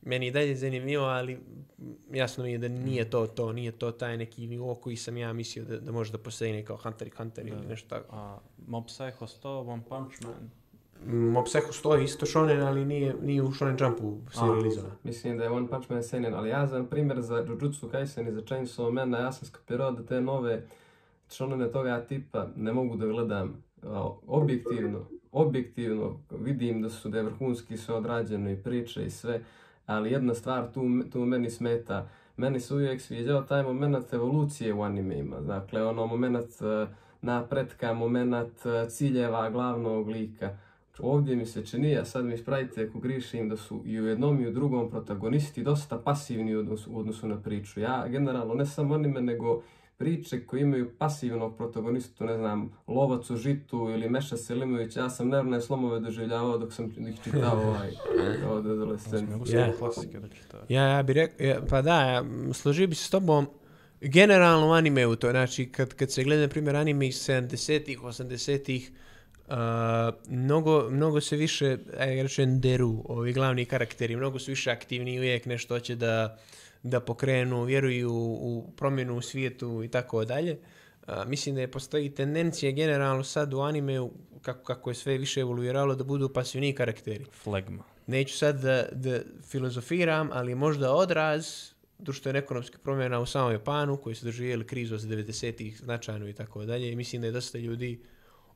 Meni je dalje zanimljivo, ali jasno mi je da nije to to, nije to taj neki nivo koji sam ja mislio da, da može da postoji kao Hunter x Hunter ili nešto tako. A Mob Psycho sto, One Punch Man? Mob Psycho sto je isto shonen, ali nije, nije u Shonen Jumpu serializovan. Mislim da je One Punch Man seinen, ali ja za primjer za Jujutsu Kaisen i za Chainsaw Mana, ja sam skapirao da te nove shonene toga tipa ne mogu da gledam objektivno. Objektivno vidim da su da je vrhunski sve odrađeno i priče i sve, ali jedna stvar tu, tu meni smeta. Meni se uvijek sviđao taj moment evolucije u animeima. Dakle, ono moment uh, napretka, moment uh, ciljeva glavnog lika. Ovdje mi se čini, a sad mi ispravite ako grišim, da su i u jednom i u drugom protagonisti dosta pasivni u odnosu, u odnosu na priču. Ja generalno ne samo anime, nego priče koje imaju pasivnog protagonistu, ne znam, Lovac u žitu ili Meša Selimović, ja sam nervne slomove doživljavao dok sam ih čitao ovaj, od adolescencije. Yeah. Klasike da čitao. Ja, ja bih rekao, ja, pa da, ja, složio bi se s tobom, generalno u animeu to, znači kad, kad se gleda, na primjer, anime iz sedamdesetih, osamdesetih, Uh, mnogo, mnogo se više, aj rečem, deru ovi glavni karakteri, mnogo su više aktivni, uvijek nešto hoće da, da pokrenu, vjeruju u promjenu u svijetu i tako dalje. Uh, mislim da je postoji tendencija generalno sad u animeu, kako, kako je sve više evoluiralo, da budu pasivni karakteri. Flegma. Neću sad da, da filozofiram, ali možda odraz društveno-ekonomskih promjena u samom Japanu, koji su doživjeli krizu od devedesetih značajno i tako dalje. I mislim da je dosta ljudi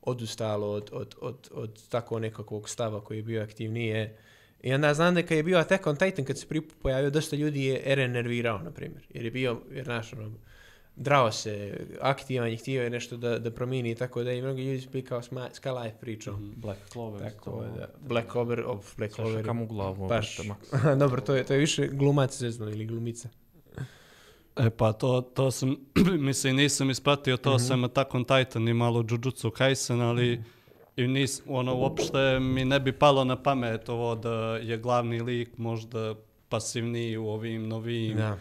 odustalo od, od, od, od tako nekakvog stava koji je bio aktivnije. I onda znam da kad je bio Attack on Titan, kad se prvi pojavio, dosta ljudi je Eren nervirao, na primjer. Jer je bio, jer naš, ono, drao se, aktivan i htio je nešto da, da promijeni i tako da i mnogi ljudi su bili kao Sky Life pričom. Mm-hmm. Black Clover. Tako da, Black Clover, of Black Clover. Saša kam u glavu. Baš, dobro, to je, to je više glumac zezno ili glumica. E pa to, to sam, mislim, nisam ispratio to, mm-hmm. sam Attack on Titan i malo Jujutsu Kaisen, ali mm-hmm. i nis, ono, uopšte mi ne bi palo na pamet ovo da je glavni lik možda pasivniji u ovim novijim, da.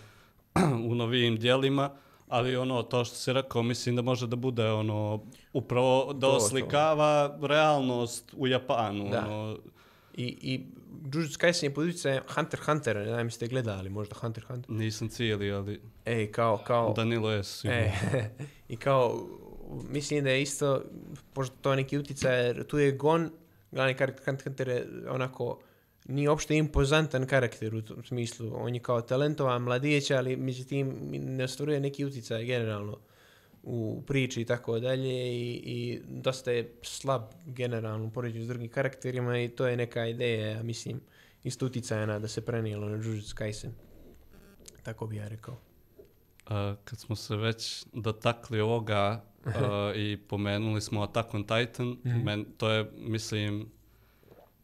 u novijim dijelima, ali ono, to što si rekao, mislim da može da bude ono, upravo da oslikava to. realnost u Japanu. Da. Ono. I, i Jujutsu Kaisen je pod utjecajem Hunter x Hunter, ne znam ste gledali, možda Hunter x Hunter. Nisam cijeli, ali Ej, kao, kao... Danilo je sigurno. E, i kao, mislim da je isto, pošto to je neki utjecaj, jer tu je Gon, glavni karakter Hunter x Hunter je onako, nije uopšte impozantan karakter u tom smislu. On je kao talentovan mladić, ali međutim ne ostvaruje neki utjecaj generalno u priči i tako dalje i, i dosta je slab generalno u poređenju s drugim karakterima i to je neka ideja, ja mislim, isto utjecajna da se prenijelo na Jujutsu Kaisen. Tako bi ja rekao. A, kad smo se već dotakli ovoga a, i pomenuli smo Attack on Titan, mm-hmm. men, to je, mislim,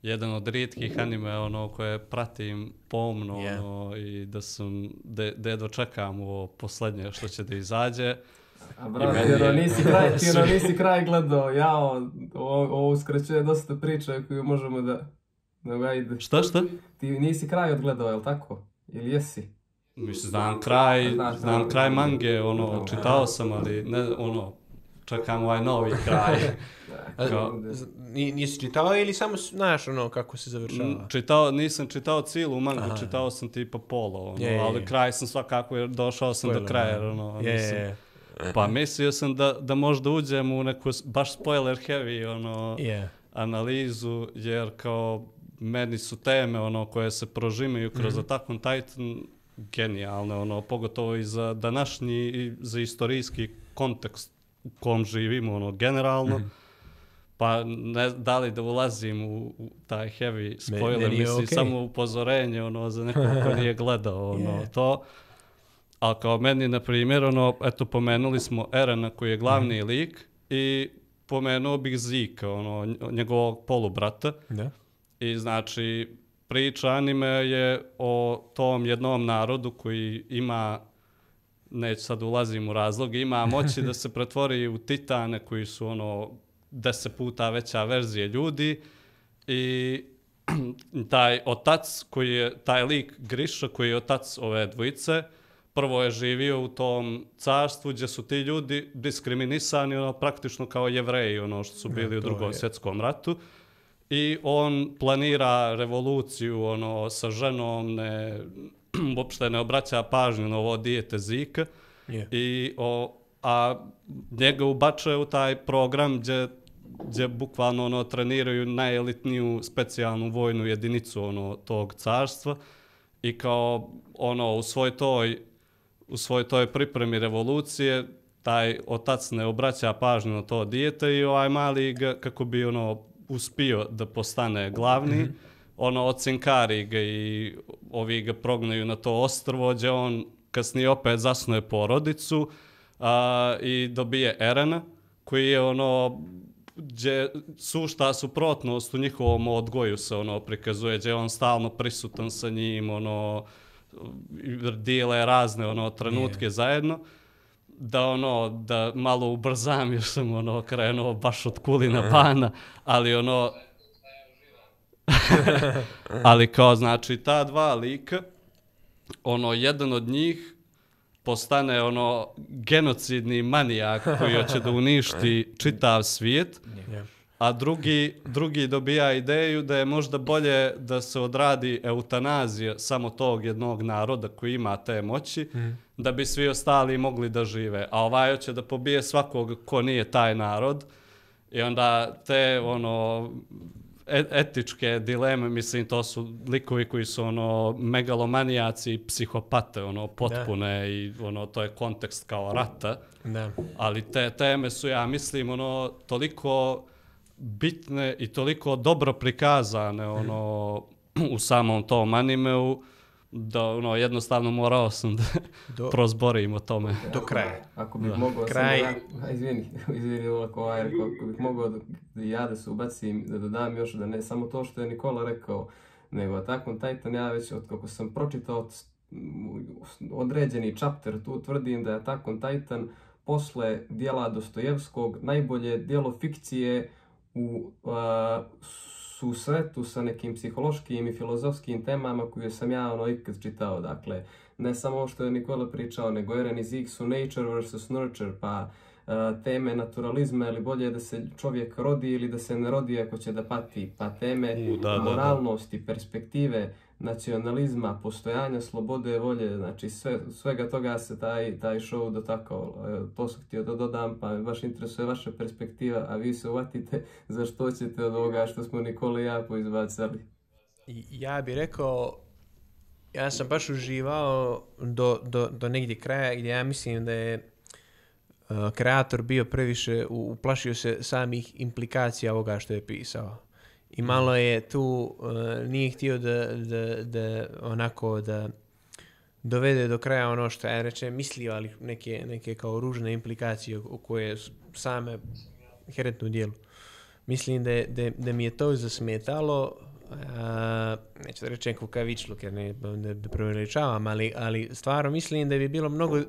jedan od rijetkih anime ono, koje pratim pomno yeah. ono, i da sam, da jedva čekam ovo posljednje što će da izađe. A brate, ono, nisi kraj, ti ono, nisi kraj gledao, jao, ovo uskraćuje dosta priče koju možemo da... Nego ajde. Šta, šta? Ti nisi kraj odgledao, jel tako? Ili jesi? Mislim, znam kraj, znam kraj mange, ono, čitao sam, ali ne, ono, čekam ovaj novi kraj. Kao, nisi čitao ili samo znaš ono kako se završava? Čitao, nisam čitao cijelu mangu, aha, čitao sam tipa polo, ono, je, je, ali kraj sam svakako, jer došao sam spoiler, do kraja, ono, je, mislim. Je. Pa mislio sam da, da možda uđem u neku baš spoiler heavy, ono, yeah, analizu, jer kao meni su teme, ono, koje se prožimaju kroz mm-hmm. Attack on Titan genijalne, ono, pogotovo i za današnji i za istorijski kontekst u kom živimo, ono, generalno. Mm-hmm. Pa ne da li da ulazim u, u taj heavy spoiler, mislim, okay, samo upozorenje, ono, za nekog ko nije gledao, ono, yeah, to. Ali kao meni, na primjer, ono, eto, pomenuli smo Erena koji je glavni mm-hmm. lik i pomenuo bih Zika, ono, njegovog polubrata. Da. I znači, priča anime je o tom jednom narodu koji ima, neću sad ulazim u razloge, ima moći da se pretvori u titane koji su ono deset puta veća verzija ljudi i taj otac koji je, taj lik Grisha koji je otac ove dvojice, prvo je živio u tom carstvu gdje su ti ljudi diskriminisani ono, praktično kao Jevreji, ono što su bili ne, u drugom je. svjetskom ratu. I on planira revoluciju ono, sa ženom, ne, uopšte ne obraća pažnju na ovo dijete Zika. Yeah. I, o, a njega ubačuje u taj program gdje, gdje bukvalno ono, treniraju najelitniju specijalnu vojnu jedinicu ono, tog carstva. I kao ono, u svoj toj u svojoj toj pripremi revolucije taj otac ne obraća pažnju na to dijete i ovaj mali ga, kako bi ono uspio da postane glavni, mm-hmm. ono ocinkari ga i ovi ga prognaju na to ostrvo gdje on kasnije opet zasnuje porodicu a, i dobije Erena koji je ono gdje sušta suprotnost u njihovom odgoju se ono prikazuje, gdje je on stalno prisutan sa njim, ono dijele razne ono trenutke yeah. zajedno, da ono da malo ubrzam jer sam ono krenuo baš od Kulina bana, ali ono ali kao znači ta dva lika, ono jedan od njih postane ono genocidni manijak koji hoće da uništi čitav svijet. Yeah. A drugi, drugi dobija ideju da je možda bolje da se odradi eutanazija samo tog jednog naroda koji ima te moći, mm. da bi svi ostali mogli da žive. A ovaj hoće da pobije svakog ko nije taj narod. I onda te ono etičke dileme, mislim, to su likovi koji su ono megalomanijaci i psihopate, ono potpune da. I ono to je kontekst kao rata. Da. Ali te teme su, ja mislim, ono toliko bitne i toliko dobro prikazane ono u samom tom animeu da ono jednostavno morao sam da do, prozborim o tome do kraja. Ako bih mogao kraj ja, izvini, izvini ovako, ovaj, ako bih mogao da ja da se ubacim, da dodam još da ne samo to što je Nikola rekao, nego Attack on Titan, ja već od kako sam pročitao određeni chapter, tu tvrdim da je Attack on Titan posle djela Dostojevskog najbolje djelo fikcije u uh, susretu sa nekim psihološkim i filozofskim temama koje sam ja ono ikad čitao. Dakle, ne samo što je Nikola pričao, nego Eren i Zeke su nature versus nurture, pa uh, teme naturalizma, ili bolje da se čovjek rodi ili da se ne rodi ako će da pati, pa teme U, da, moralnosti, da, da. perspektive, nacionalizma, postojanja, slobode, volje, znači sve, svega toga se taj, taj show dotakao. To sam htio da dodam, pa me baš interesuje vaša perspektiva, a vi se uvatite za što ćete od ovoga što smo Nikola i ja poizbacali. Ja bih rekao, ja sam baš uživao do, do, do negdje kraja gdje ja mislim da je uh, kreator bio previše, uplašio se samih implikacija ovoga što je pisao. I malo je tu, uh, nije htio da, da, da onako da dovede do kraja ono što ja reče mislio, ali neke, neke kao ružne implikacije u koje same herentnu dijelu. Mislim da, da, da mi je to zasmetalo, uh, neću da rečem kukavičluk jer ne da, da preveličavam, ali, ali stvarno mislim da bi bilo mnogo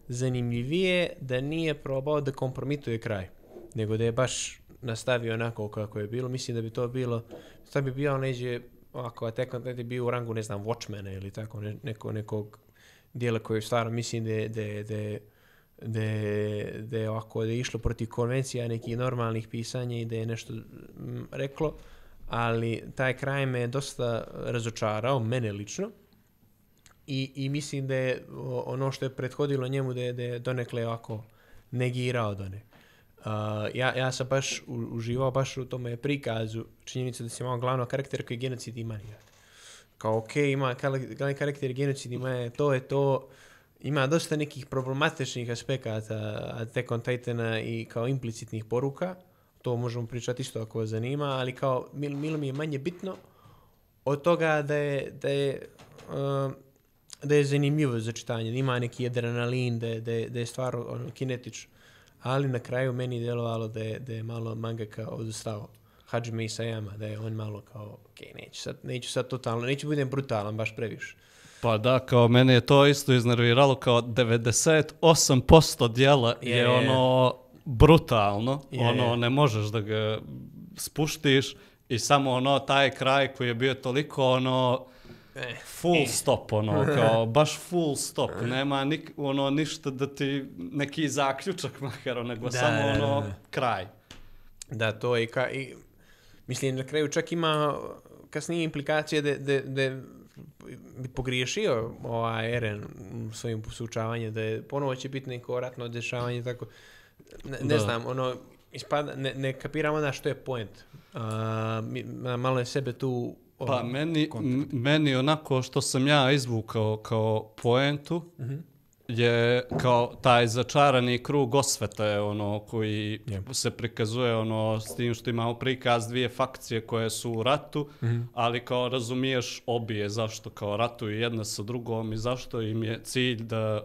zanimljivije da nije probao da kompromituje kraj, nego da je baš nastavio onako kako je bilo. Mislim da bi to bilo, sad bi bio neđe, ako Attack on Titan bio u rangu, ne znam, Watchmena ili tako, ne, neko, nekog dijela koje je stvarno, mislim da je, da je, da je, da je, da je, ovako, da je išlo protiv konvencija nekih normalnih pisanja i da je nešto m, reklo, ali taj kraj me dosta razočarao, mene lično. I, i mislim da je ono što je prethodilo njemu da je, da je donekle ovako negirao done. Uh, ja, ja sam baš u, uživao baš u tome prikazu činjenica da si imao glavnog karaktera koji je genocid i manijak. Kao ok, ima glavni karakter genocid i manijak, to je to, ima dosta nekih problematičnih aspekata Attack on Titana i kao implicitnih poruka, to možemo pričati isto ako vas zanima, ali kao mil, milo mi je manje bitno od toga da je, da je uh, da je zanimljivo za čitanje, da ima neki adrenalin, da je, da je, da je stvar ono, kinetično. Ali na kraju meni djelovalo da je, da je malo mangaka odustao. Hajime Isayama, da je on malo kao, ok, neću sad, neću sad totalno, neću budem brutalan baš previše. Pa da, kao mene je to isto iznerviralo, kao devedeset osam posto dijela je, je ono brutalno, je, ono je. Ne možeš da ga spuštiš i samo ono taj kraj koji je bio toliko ono full stop, ono, kao baš full stop, nema nik, ono, ništa da ti, neki zaključak makar, nego da, samo ono, da, da. Kraj. Da, to je, ka, i, mislim, na kraju čak ima kasnije implikacije da, da, da bi pogriješio ovaj Eren u svojim sučavanjem, da je ponovo će biti neko ratno dešavanje, tako, ne, ne znam, ono, ispada, ne, ne kapiram onda što je point. Uh, malo je sebe tu Pa meni, meni onako što sam ja izvukao kao poentu mm-hmm. je kao taj začarani krug osvete ono koji yeah. se prikazuje ono s tim što imamo prikaz dvije fakcije koje su u ratu, mm-hmm. ali kao razumiješ obje zašto kao ratuju jedna sa drugom i zašto im je cilj da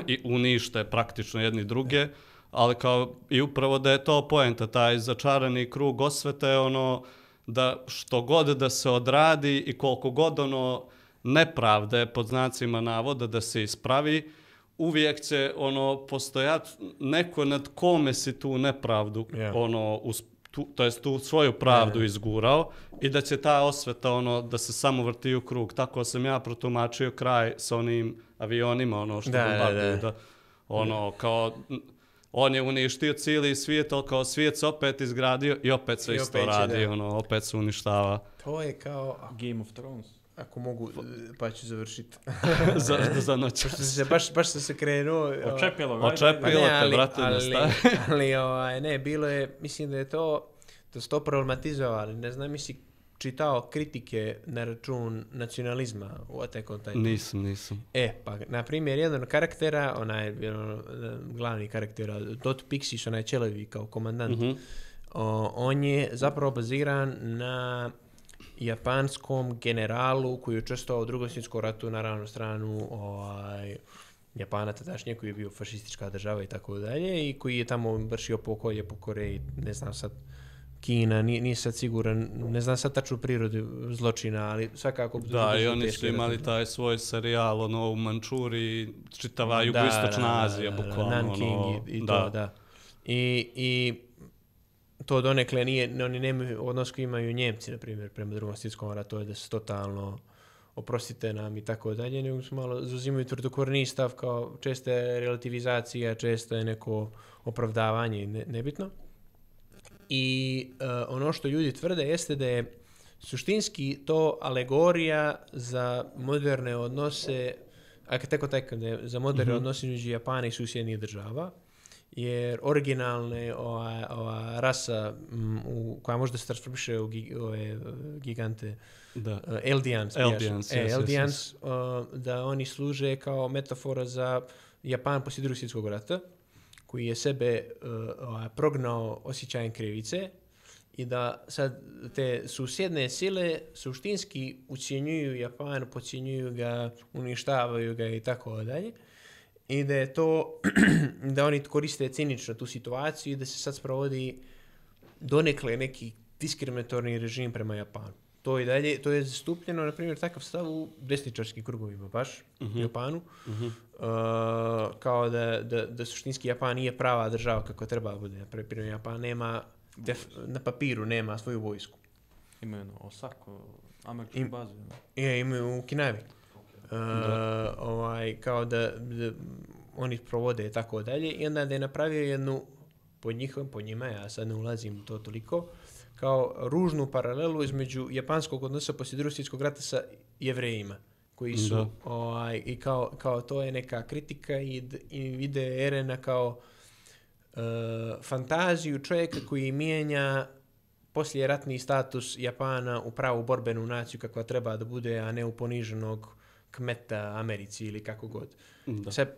i unište praktično jedni druge, ali kao i upravo da je to poenta, taj začarani krug osvete ono da što god da se odradi i koliko god ono nepravde pod znacima navoda da se ispravi, uvijek će ono postojati neko nad kome si tu nepravdu yeah. ono us, tu, to jest tu svoju pravdu yeah. izgurao i da će ta osveta ono da se samo vrti u krug. Tako sam ja protumačio kraj sa onim avionima ono što bombarduju da, da ono kao on je uništio cijeli svijet, ali kao svijet se opet izgradio i opet se I isto opet radi, da. Ono, opet se uništava. To je kao Game of Thrones. Ako mogu, pa ću završiti. za, za noć. Se, baš, baš sam se krenuo. Očepilo ga. Očepilo ne, te, ali, brate, ali, ali, ali ovaj, ne, bilo je, mislim da je to, da su to problematizovali, ne znam, mislim, čitao kritike na račun nacionalizma u Attack on Titan. Nisam, nisam. E, pa, na primjer, jedan od karaktera, onaj ono, glavni karaktera, Dot Pixish, onaj Čelevi kao komandant, mm-hmm. o, on je zapravo baziran na japanskom generalu koji je učestvovao u Drugom svjetskom ratu, naravno na stranu ovaj, Japana tadašnje, koji je bio fašistička država i tako dalje, i koji je tamo vršio pokolje po Koreji, ne znam sad, Kina, nije, nije sad siguran, ne znam sad tačnu prirodu zločina, ali svakako... Da, i oni su imali taj svoj serijal, ono, u Mančuriji, čitava jugoistočna Azija, da, bukvalno. Nanking ono, i, i da. to, da. I, i to donekle nije, oni nemaju odnos koji imaju Njemci, na primjer, prema Drugom svjetskom ratu, to je da su totalno oprostite nam i tako dalje, nego su malo zauzimaju tvrdokorni stav, kao česta je relativizacija, često je neko opravdavanje, ne, nebitno. I uh, ono što ljudi tvrde jeste da je suštinski to alegorija za moderne odnose, ako tako tako da je za moderne mm-hmm. odnose među Japana i susjednih država, jer originalne ova, ova rasa m, u, koja možda se transformiše u gi, ove gigante da. uh, Eldians, Eldians, e, yes, Eldians yes, yes. Uh, da oni služe kao metafora za Japan poslije Drugog svjetskog rata, koji je sebe uh, prognao osjećajem krivice i da sad te susjedne sile suštinski ucijenjuju Japan, podcjenjuju ga, uništavaju ga i tako dalje. I da je to, da oni koriste cinično tu situaciju i da se sad sprovodi donekle neki diskriminatorni režim prema Japanu. to i dalje, to je zastupljeno, na primjer, takav stav u desničarskim krugovima, baš, Mhm. u Japanu. Mhm. Uh, kao da, da, da suštinski Japan nije prava država kako treba bude. Na primjer, Japan nema, def, na papiru nema svoju vojsku. Imaju ono, Osako, američku Im- bazu. Ne? Je, imaju u Okinavi. Uh, ovaj, kao da, da oni provode i tako dalje. I onda da je napravio jednu, po njihovim, po njima, ja sad ne ulazim u to toliko, kao ružnu paralelu između japanskog odnosa poslije Drugog svjetskog rata sa Jevrejima, koji su, Da. ovaj, i kao, kao to je neka kritika i, d- i vide Erena kao uh, fantaziju čovjeka koji mijenja poslije ratni status Japana u pravu borbenu naciju kakva treba da bude, a ne u poniženog kmeta Americi ili kako god. Da. Sad,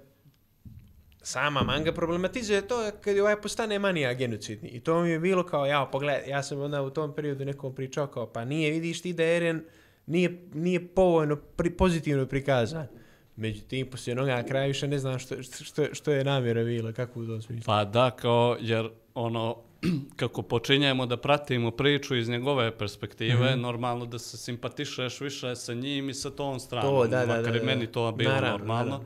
sama manga problematizuje to kad je ovaj postane manija genocidni. I to mi je bilo kao, ja, pogledaj, ja sam onda u tom periodu nekom pričao kao, pa nije, vidiš ti da Eren nije, nije povoljno, pri, pozitivno prikazan. Međutim, poslije onoga na kraju više ne znam što, što, što je namjera bila, kako u tom smislu. Pa da, kao, jer ono, kako počinjemo da pratimo priču iz njegove perspektive, Mhm. normalno da se simpatišeš više sa njim i sa tom stranom. To, da, da, makar da, i da. meni to bilo Naravno, normalno. naravno.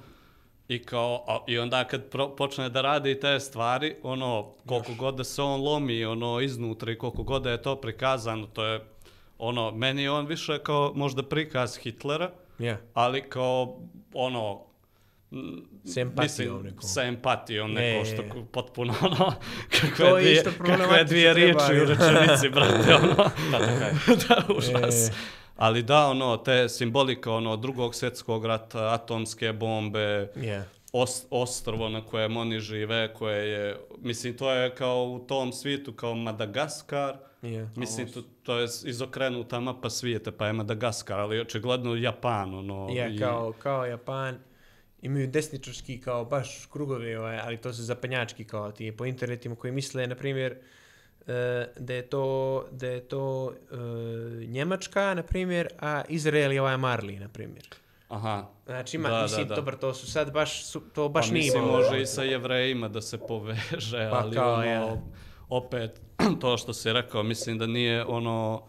I kao, a, i onda kad pro, počne da radi te stvari, ono, koliko god da se on lomi, ono, iznutra i koliko god da je to prikazano, to je, ono, meni je on više kao možda prikaz Hitlera, Ja, ali kao, ono, m, s empatijom mislim, nekom. sa empatijom, Je, neko je, što je. ku- potpuno, ono, kakve To je dvije, isto kakve problematično dvije treba, riječi u je. rečenici, brate, ono, Da, da, kaj. da, užas. E. Ali da, ono, te simbolike, ono, drugog svjetskog rata, atomske bombe, Ja. Os, ostrvo na kojem oni žive, koje je, mislim, to je kao u tom svijetu kao Madagaskar, Ja. mislim, to, to je izokrenuta mapa svijeta, pa je Madagaskar, ali očigledno Japan, ono, Ja, i- kao, kao Japan, imaju desničarski kao baš krugovi, ovaj, ali to su zapadnjački kao ti po internetima koji misle, na primjer, e, da je to, da je to e, Njemačka, na primjer, a Izrael je ovaj Marley, na primjer. Aha. Znači, ima, Da, mislim, da, da. dobro, to su sad baš, su, to baš Pa nije mislim, bilo. može i sa Jevrejima da se poveže, Pa ali kao, ono, ja. opet, to što si rekao, mislim da nije ono,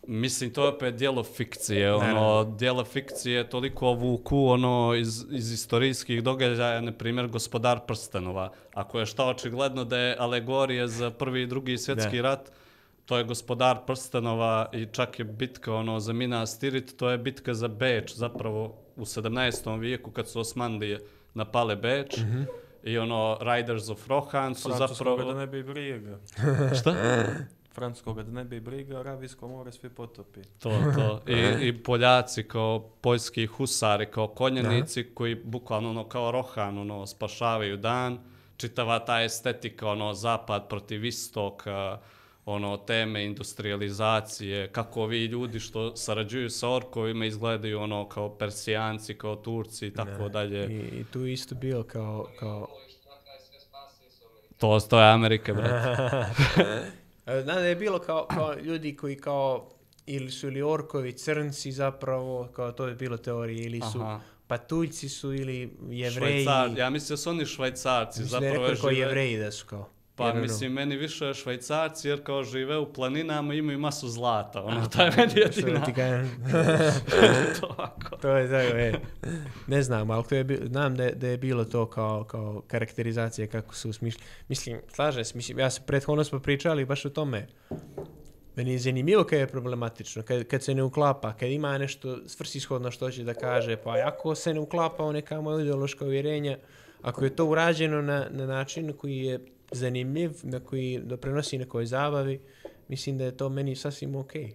mislim, to je opet dijelo fikcije, ono, Naravno. dijelo fikcije toliko vuku, ono, iz, iz istorijskih događaja, na primjer, Gospodar prstenova. Ako je šta očigledno da je alegorija za prvi i drugi svjetski Da. rat, to je Gospodar prstenova i čak je bitka, ono, za Minas Tirith, to je bitka za Beč, zapravo, u sedamnaestom vijeku, kad su Osmanlije napale Beč, Mhm. i ono, Riders of Rohan su Francuskoga zapravo... da ne bi briga. Šta? Francuskoga da ne bi briga, Arabijsko more svi potopi. To, to. I, I Poljaci kao poljski husari, kao konjanici koji bukvalno ono, kao Rohan ono, spašavaju dan. Čitava ta estetika, ono, zapad protiv istoka, ono, teme industrializacije, kako vi ljudi što sarađuju sa orkovima izgledaju ono kao Persijanci, kao Turci i tako dalje. I, I tu je isto bio kao... kao... To, to je Amerika, brate. Znam da je bilo kao, kao ljudi koji kao ili su ili orkovi, crnci zapravo, kao to je bilo teorije, ili su Aha. patuljci su ili jevreji. Švajcar, ja mislim da su oni Švajcarci. Mislim da je zapravo rekao kao žive- jevreji da su kao. Pa Jer ono- mislim, meni više Švajcarci, jer kao žive u planinama imaju masu zlata. Ono, to je meni Što jedina. ti kažem? to ovako. To je tako, e. Ne znam, ali to je, bi- znam da je, da je bilo to kao, kao karakterizacija kako su smišljeni. Mislim, slažem se, mislim, ja sam prethodno smo pričali baš o tome. Meni je zanimljivo kad je problematično, kad, kad se ne uklapa, kad ima nešto svrsishodno što će da kaže, pa ako se ne uklapa u neka moja ideološka uvjerenja, ako je to urađeno na, na način koji je zanimljiv, na koji doprinosi nekoj zabavi, mislim da je to meni sasvim okej.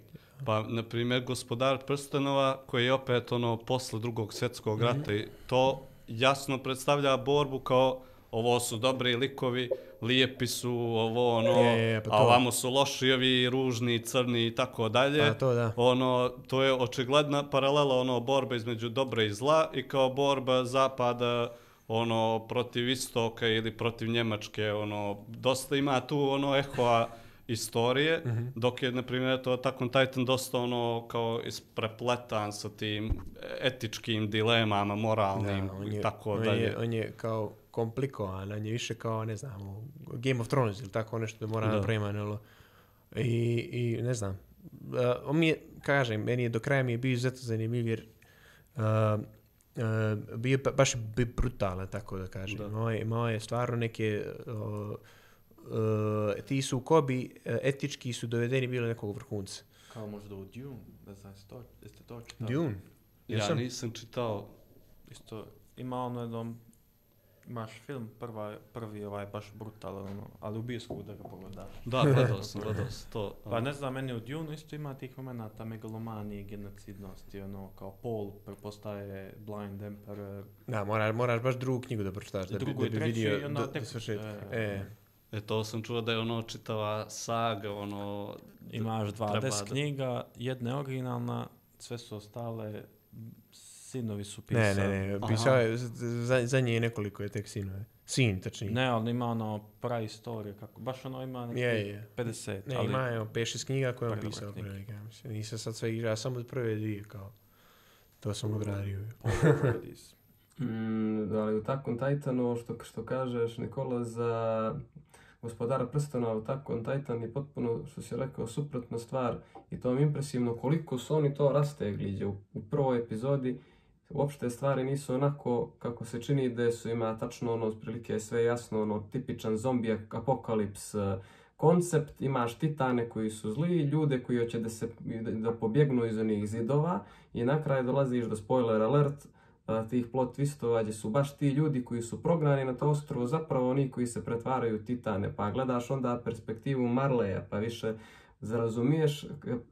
Pa, na primjer, Gospodar prstenova, koji je opet ono posle drugog svjetskog rata, i to jasno predstavlja borbu kao ovo su dobri likovi, lijepi su, ovo ono, Je, je, pa a to. ovamo su loši, ovi ružni, crni i tako dalje. Pa to da. Ono, to je očigledna paralela ono borba između dobra i zla i kao borba zapada ono protiv istoka ili protiv Njemačke, ono dosta ima tu ono ehoa istorije, Mhm. dok je na primjer to Attack on Titan dosta ono kao isprepletan sa tim etičkim dilemama, moralnim on je, i tako on dalje. Je, on je kao komplikovan, on je više kao, ne znam, u Game of Thrones ili tako nešto da mora Da. napraviti. I, I ne znam, on mi je, kažem, meni je do kraja mi je bio izuzetno zanimljiv jer uh, uh, bio pa, baš bio brutalan, tako da kažem. Da. Moje, moje stvarno neke uh, uh, ti su kobi uh, etički su dovedeni bili nekog vrhunca. Kao možda u Dune, ne znam, jeste to, jeste to čitali? Dune? Ja Jesam? nisam čitao. Isto, ima ono jednom, imaš film, prva, prvi ovaj baš brutalan, ono, ali u bioskopu da ga pogledaš. Da, gledao sam, gledao sam to. Pa ne znam, meni u Dune isto ima tih momenata megalomanije, genocidnosti, ono, kao Paul prepostaje Blind Emperor. Da, moraš, moraš baš drugu knjigu da pročitaš, da, drugu bi, da bi vidio i onda do, tek, do svršetka. E, E. E, to sam čuo da je ono čitava saga, ono... Imaš dvadeset treba da- knjiga, jedna je originalna, sve su ostale, sinovi su Ne, pisali. ne, ne, pisao je, za, za nje je nekoliko je tek sinove. Sin, tačnije. Ne, ali ima ono praistorije, kako, baš ono ima neki Je, je. pedeset. Ne, ali ima je pet šest knjiga koje on Predobre pisao. knjige. Pre, ja mislim. Nisam sad sve igrao, samo prve dvije, kao. To sam odradio. Mm, ali u Attack on Titanu, što, što kažeš Nikola, za Gospodara prstena u Attack on Titan je potpuno, što si rekao, suprotna stvar i to mi je impresivno koliko su oni to rastegli. U, u prvoj epizodi uopšte stvari nisu onako kako se čini da su, ima tačno ono, otprilike sve jasno, ono, tipičan zombi apokalips koncept, imaš titane koji su zli, ljude koji hoće da, se, da, da pobjegnu iz onih zidova i na kraju dolaziš do spoiler alert, tih plot twistova gdje su baš ti ljudi koji su prognani na to ostrvo zapravo oni koji se pretvaraju titane, pa gledaš onda perspektivu Marleya, pa više zarazumiješ,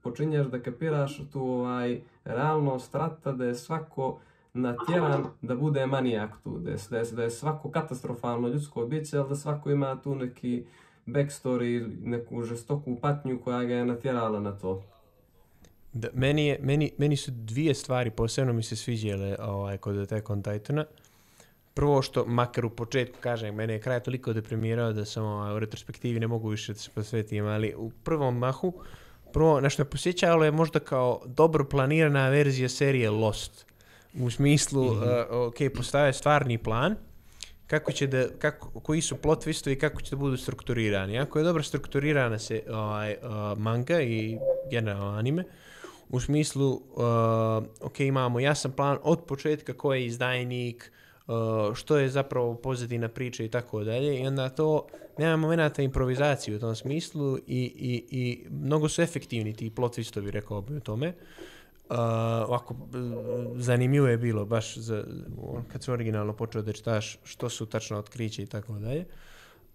počinješ da kapiraš tu ovaj, realnost rata da je svako natjeran da bude manijak tu, da je, da je, da je svako katastrofalno ljudsko biće, ali da svako ima tu neki backstory, neku žestoku patnju koja ga je natjerala na to. Da, meni, je, meni, meni su dvije stvari posebno mi se sviđale ovaj, kod Attack on Titana. Prvo što, makar u početku, kažem, mene je kraj toliko deprimirao da sam ovaj, u retrospektivi ne mogu više da se posvetim, ali u prvom mahu, prvo na što je posjećalo je možda kao dobro planirana verzija serije Lost. U smislu, mm-hmm. uh, ok, postavio stvarni plan, kako će da, kako, koji su plot twistovi i kako će da budu strukturirani. Ako je dobro strukturirana se ovaj, uh, manga i generalno anime, u smislu, uh, ok, imamo jasan plan od početka ko je izdajnik, uh, što je zapravo pozadina priče i tako dalje, i onda to nema momenta improvizacije u tom smislu i, i, i mnogo su efektivni ti plot twistovi, rekao bi o tome. Uh, ovako, zanimljivo je bilo baš za, kad sam originalno počeo da čitaš što su tačno otkriće i tako dalje.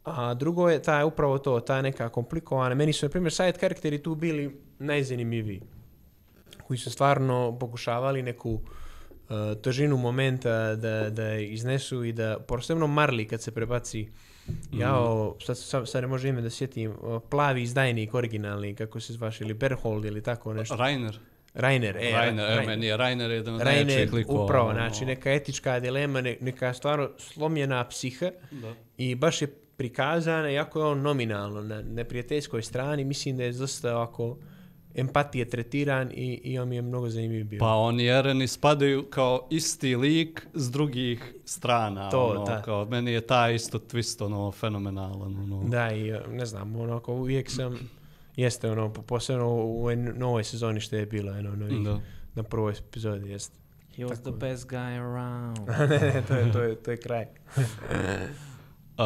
A drugo je ta, upravo to, ta neka komplikovana, meni su na primjer side karakteri tu bili najzanimljiviji, koji su stvarno pokušavali neku uh, težinu momenta da, da iznesu i da, posebno Marley kad se prebaci, mm. jao, sad, sad, sad ne može ime da sjetim, uh, plavi izdajnik originalni, kako se zvaš, ili Berhold ili tako nešto. Rainer. Rainer, e, Rainer, Rainer, e, meni je Rainer jedan od Rainer, najjačih likova. upravo, znači neka etička dilema, ne, neka stvarno slomljena psiha Da. i baš je prikazana, jako je on nominalno na neprijateljskoj strani, mislim da je dosta ovako empatije tretiran i, i on mi je mnogo zanimljiv bio. Pa oni Ereni spadaju kao isti lik s drugih strana. To, ono, da. kao, meni je taj isto twist ono, fenomenalan. Ono. Da, i ne znam, onako uvijek sam, jeste ono, posebno u ovoj novoj sezoni što je bilo, ono, novih, Da. na prvoj epizodi, jeste. He was Tako. the best guy around. ne, ne, to je, to je, to je kraj. Uh,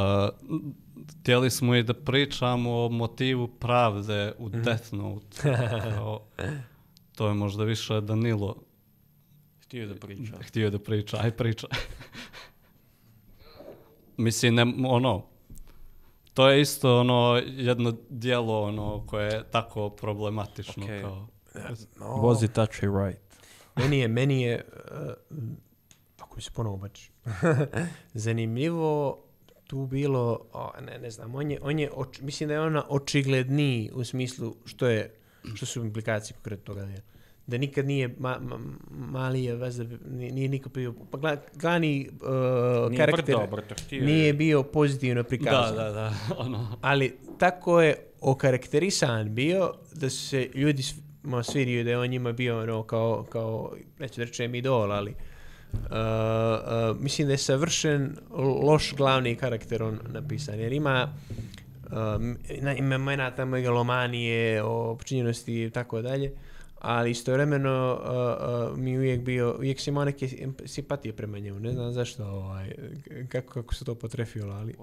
htjeli smo i da pričamo o motivu pravde u Mhm. Death Note. Kao, to je možda više Danilo Htio da priča. htio da priča. Aj priča. Mislim, ne, ono, to je isto ono jedno dijelo ono koje je tako problematično. Okay. Kao, No, Was it actually right? meni je, meni je, uh, ako mi se ponovo bači, zanimljivo tu bilo, o, ne, ne znam, on je, on je oč, mislim da je ona očigledniji u smislu što je, što su implikacije konkretno toga djela. Da nikad nije ma, ma, Malija veze, nije, nije nikad bio, pa gla, glavni uh, Nije karakter brdo, brdo, htio nije je. bio pozitivno prikazan. da, da, da. Ono. Ali tako je okarakterisan bio da su se ljudi svidio da je on njima bio ono kao, kao neću da rečem idol, ali uh, uh, mislim da je savršen loš glavni karakter on napisan, jer ima uh, momenata megalomanije, o počinjenosti i tako dalje, ali istovremeno uh, uh, mi uvijek bio, uvijek sam imao neke simpatije prema njemu, ne znam zašto, ovaj, kako, kako se to potrefilo, ali...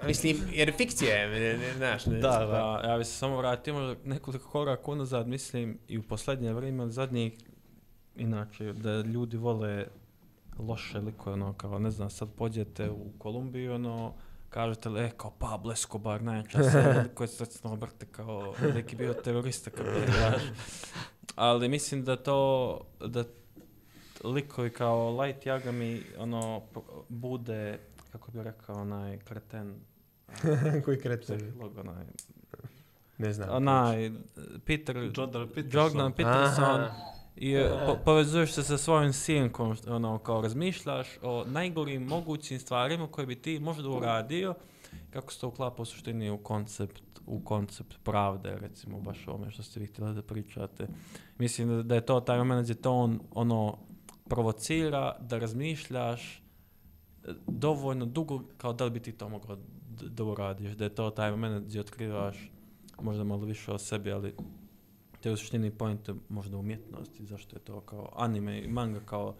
Mislim, jer fikcija je, ne, ne, znaš, ne. Da, da, ja bih se samo vratio možda nekoliko koraka unazad, mislim, i u posljednje vrijeme, ali zadnjih, inače, da ljudi vole loše likove, ono, kao, ne znam, sad pođete u Kolumbiju, ono, kažete li, e, kao Pablo Escobar, najjača serija, koji se sad obrte kao neki bio terorista, kao gledaš. Ali mislim da to, da likovi kao Light Yagami, ono, bude, kako bi rekao, onaj kreten. Koji kreten? Onaj, ne znam. Onaj, Peter, Jordan Peterson. Jordan Peterson. I po, povezuješ se sa svojim sinkom, ono, kao razmišljaš o najgorim mogućim stvarima koje bi ti možda uradio, kako se to uklapa u suštini u koncept, u koncept pravde, recimo, baš ovome što ste vi htjeli da pričate. Mislim da, da je to taj moment gdje to on, ono, provocira da razmišljaš dovoljno dugo kao da li bi ti to mogao da, da uradiš, da je to taj moment gdje otkrivaš možda malo više o sebi, ali te u suštini pojente možda umjetnosti, zašto je to kao anime i manga, kao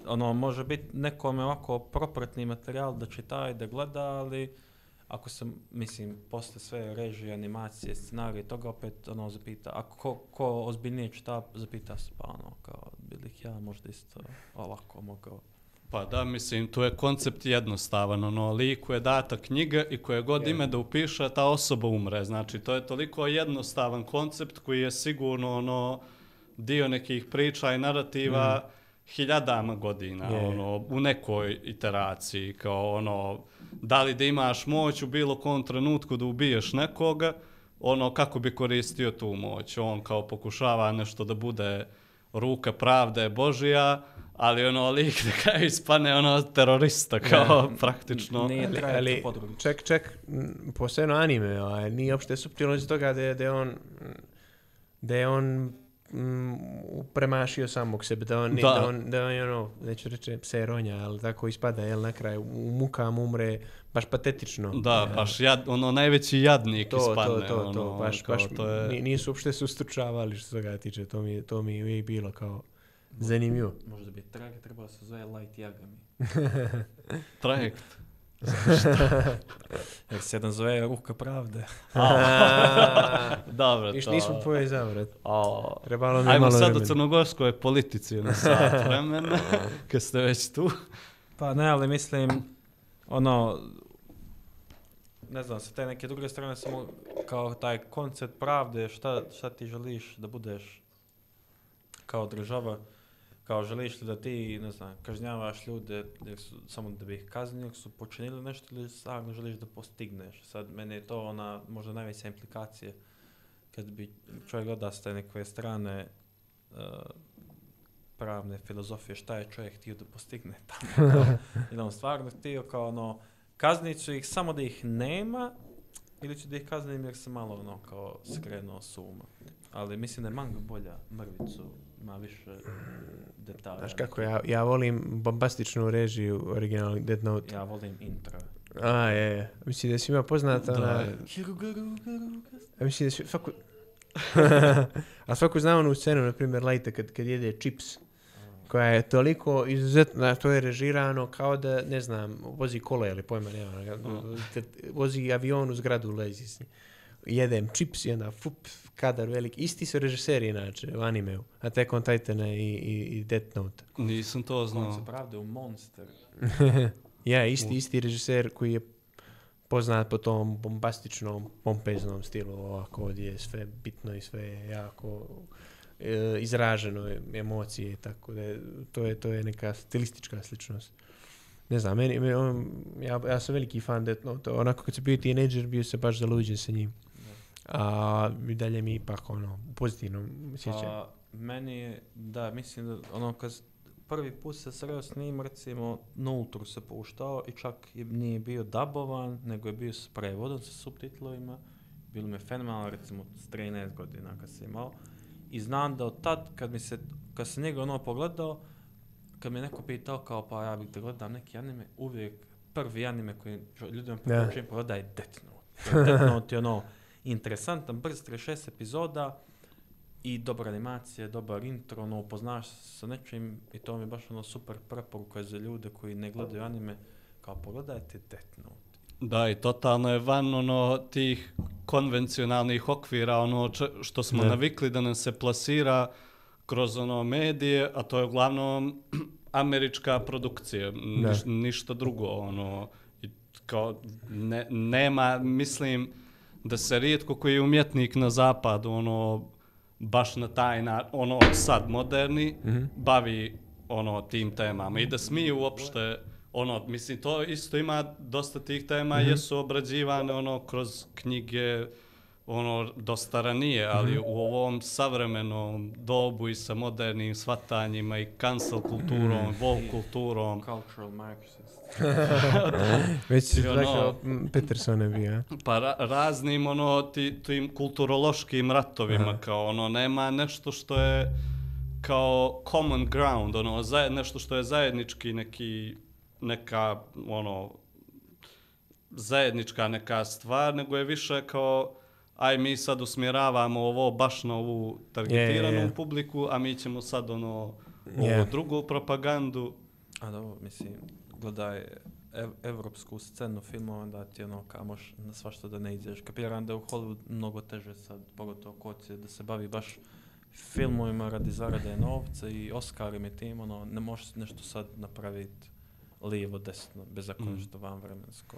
ono može biti nekome ovako propratni materijal da čita i da gleda, ali ako se, mislim, posle sve režije, animacije, scenarije, toga opet ono zapita, ako ko, ko ozbiljnije čita, zapita se, pa ono, kao, bili ja možda isto ovako mogao. Pa da, mislim, tu je koncept jednostavan, ono, liku je data knjiga i koje god yeah. ime da upiše, ta osoba umre, znači, to je toliko jednostavan koncept koji je sigurno, ono, dio nekih priča i narativa mm. hiljadama godina, yeah. ono, u nekoj iteraciji, kao, ono, da li da imaš moć u bilo kom trenutku da ubiješ nekoga, ono, kako bi koristio tu moć, on kao pokušava nešto da bude ruka pravde Božija, ali ono lik da kao ispane ono terorista kao ja, praktično. Nije ali, ček, ček, posebno anime, a nije uopšte suptilno iz toga da je, da je on da je on mm, premašio samog sebe, da on, da. Da on, da on ono, neću reći pse ronja, ali tako ispada, jel, na kraju u mukama umre baš patetično. Da, ja. baš jad, ono najveći jadnik to, ispadne. To, to, to, ono, baš, kao, baš to je... nisu uopšte se ustručavali što se toga tiče, to mi, to mi uvijek bilo kao zanimljivo. Možda bi trajekt trebalo se zove Light Yagami. Trajekt? Jer se jedan zove Ruka pravde. Dobro, to... Viš nismo povezali, vrat. Trebalo mi Ajmo malo sad vremena. u crnogorskoj politici na sat vremena, kad ste već tu. Pa ne, ali mislim, ono, ne znam, sa te neke druge strane samo kao taj koncept pravde, šta, šta ti želiš da budeš kao država, kao želiš li da ti, ne znam, kažnjavaš ljude jer su, samo da bi ih kaznili, su počinili nešto ili stvarno želiš da postigneš. Sad, mene je to ona možda najveća implikacija kad bi čovjek gleda s te neke strane uh, pravne filozofije, šta je čovjek htio da postigne tamo. Ili on stvarno htio kao ono, kaznit ću ih samo da ih nema ili ću da ih kaznim jer se malo ono kao skrenuo s uma. Ali mislim da je manga bolja, mrvicu, ima više detalja. Znaš kako, ja, ja volim bombastičnu režiju originalnog Death Note. Ja volim intro. A, je, je. Mislim da je svima poznata ona... Ja mislim da je svaku... A svaku zna onu scenu, na primjer, Lighta kad, kad jede čips, koja je toliko izuzetno, to je režirano kao da, ne znam, vozi kola ili pojma, nema, vozi avion u zgradu, lezi s njim. Jedem čips i onda fup, kadar velik. Isti su režiseri inače u animeu, Attack on Titana i, i, i Death Note. Nisam to znao. On se pravde u Monster. Ja, isti, isti režiser koji je poznat po tom bombastičnom, pompeznom stilu, ovako ovdje je sve bitno i sve jako e, izraženo, emocije i tako da je, to je, to je neka stilistička sličnost. Ne znam, meni, meni on, ja, ja sam veliki fan Death Note, onako kad sam bio teenager bio se baš zaluđen sa njim. A i dalje mi ipak ono, pozitivno sjećam. Pa, meni je, da, mislim da ono kad prvi put se sreo s njim, recimo, Nultru se puštao i čak je, nije bio dubovan, nego je bio s prevodom, sa subtitlovima. Bilo mi je fenomenalno, recimo, s trinaest godina kad sam imao. I znam da od tad, kad mi se, kad sam njega ono pogledao, kad mi je neko pitao kao, pa ja bih da gledam neki anime, uvijek prvi anime koji ljudima Da. preporučujem pogledaj je Death Note. Death Note je ono interesantan, brz, šest epizoda i dobra animacija, dobar intro, ono, upoznaš se sa nečim i to mi je baš ono super preporuka za ljude koji ne gledaju anime, kao pogledajte Death Note. Da, i totalno je van ono tih konvencionalnih okvira, ono č- što smo Ne. navikli da nam se plasira kroz ono medije, a to je uglavnom američka produkcija, niš, ništa drugo, ono, i kao, ne, nema, mislim da se rijetko koji umjetnik na zapadu, ono, baš na taj način, ono, sad moderni, Mhm. bavi, ono, tim temama i da smiju uopšte, ono, mislim, to isto ima dosta tih tema, Mhm. jesu obrađivane, ono, kroz knjige, ono, dosta ranije, ali u ovom savremenom dobu i sa modernim shvatanjima i cancel kulturom, woke kulturom, Cultural Marxist. Već si I ono- tako Peterson je bio, a? pa ra- raznim, ono, ti, tim kulturološkim ratovima, Aha. kao, ono, nema nešto što je kao common ground, ono, zaje, nešto što je zajednički neki, neka, ono, zajednička neka stvar, nego je više kao, aj mi sad usmjeravamo ovo baš na ovu targetiranu Je, je, je. publiku, a mi ćemo sad, ono, ovu Je. drugu propagandu. A dobro, mislim, gledaj ev, evropsku scenu filmova, onda ti ono, kao možeš na svašta da ne iđeš. Kapiram da je u Hollywood mnogo teže sad, pogotovo ko će da se bavi baš filmovima radi zarade novca i Oscarima i tim, ono, ne možeš nešto sad napraviti lijevo, desno, bez ako Mm. nešto van vremensko.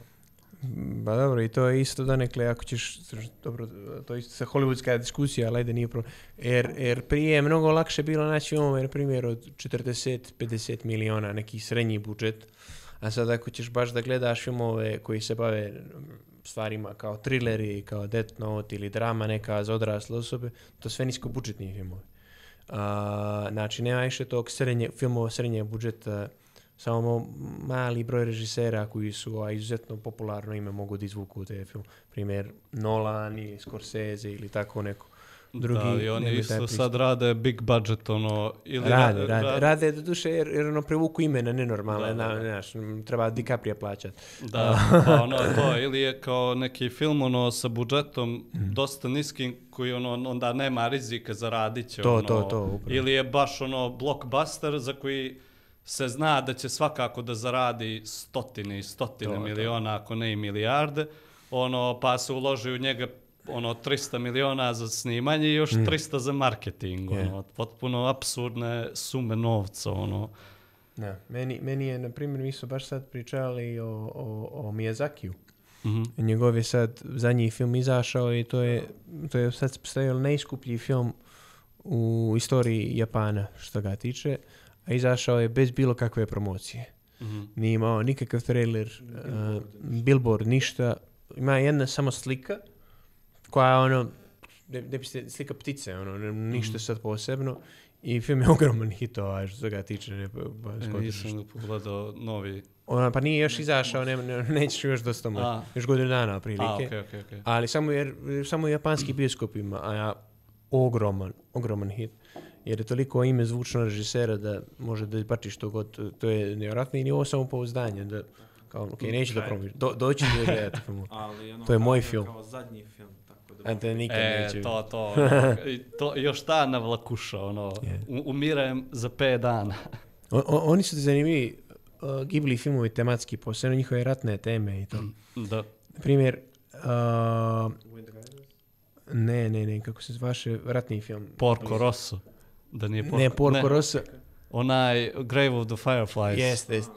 Ba dobro, i to je isto donekle, ako ćeš, dobro, to je isto sa hollywoodska diskusija, ali ajde nije problem. Jer, jer prije je mnogo lakše bilo naći filmove, na primjer, od četrdeset do pedeset miliona, neki srednji budžet. A sad ako ćeš baš da gledaš filmove koji se bave stvarima kao trileri, kao Death Note ili drama neka za odrasle osobe, to sve nisko budžetni filmovi. A, znači, nema više tog srednje, filmova srednje budžeta, samo mali broj režisera koji su a, izuzetno popularno ime mogu da izvuku te film. Primjer Nolan ili Scorsese ili tako neko. Drugi, Da, i oni nemaju taj isto pristup. sad rade big budget, ono, ili Rade, ra- rade, ra- rade do duše jer, jer ono prevuku imena nenormalne, Da, da, na, da. znaš, m, treba DiCaprio plaćat. Da, pa ono to, ili je kao neki film ono sa budžetom dosta niskim koji ono onda nema rizika za radit će, To, ono, to, to, upravo. ili je baš ono blockbuster za koji se zna da će svakako da zaradi stotine i stotine To, to. miliona, ako ne i milijarde, ono, pa se uloži u njega ono tristo miliona za snimanje i još tristo za marketing, Je. ono, potpuno apsurdne sume novca, ono. Da, meni, meni je, na primjer, mi su baš sad pričali o, o, o Miyazakiju. Mhm. Njegov je sad zadnji film izašao i to je, to je sad postavio najskuplji film u istoriji Japana što ga tiče, a izašao je bez bilo kakve promocije. Mhm. Nije imao nikakav trailer, billboard, uh, billboard ništa. Ima jedna samo slika koja je ono, ne, ne biste, slika ptice, ono, ne- ništa Mhm. sad posebno. I film je ogroman hit, ovaj, što ga tiče. Ne, ba, ba, E, skotiš. Nisam pogledao novi. Ona, pa nije još izašao, ne, ne, nećeš još dosta moći. A. Još godinu dana prilike. A, okej, okej, okej. Ali samo jer samo u japanski bioskop ima, a ja, ogroman, ogroman hit. Jer je toliko ime zvučno režisera da može da izbačiš to god, to je nevjerojatno i nije ovo samo pouzdanje, da kao, ok, neću da promiš, do, doći da gledati film. Ali ono, To je moj kao- film. Kao zadnji film, tako da... A te nikad E, neće. to, to, ono, i to, još ta navlakuša, ono, Je. u- umirem za pet dana. O, o, oni su zanimljivi, uh, Ghibli filmovi tematski, posebno njihove ratne teme i to. Da. Na primjer, uh, ne, ne, ne, kako se zvaše, ratni film. Porco Rosso. Da nije Porco, Ne, Porco Rosso. Onaj Grave of the Fireflies. Jeste, jeste.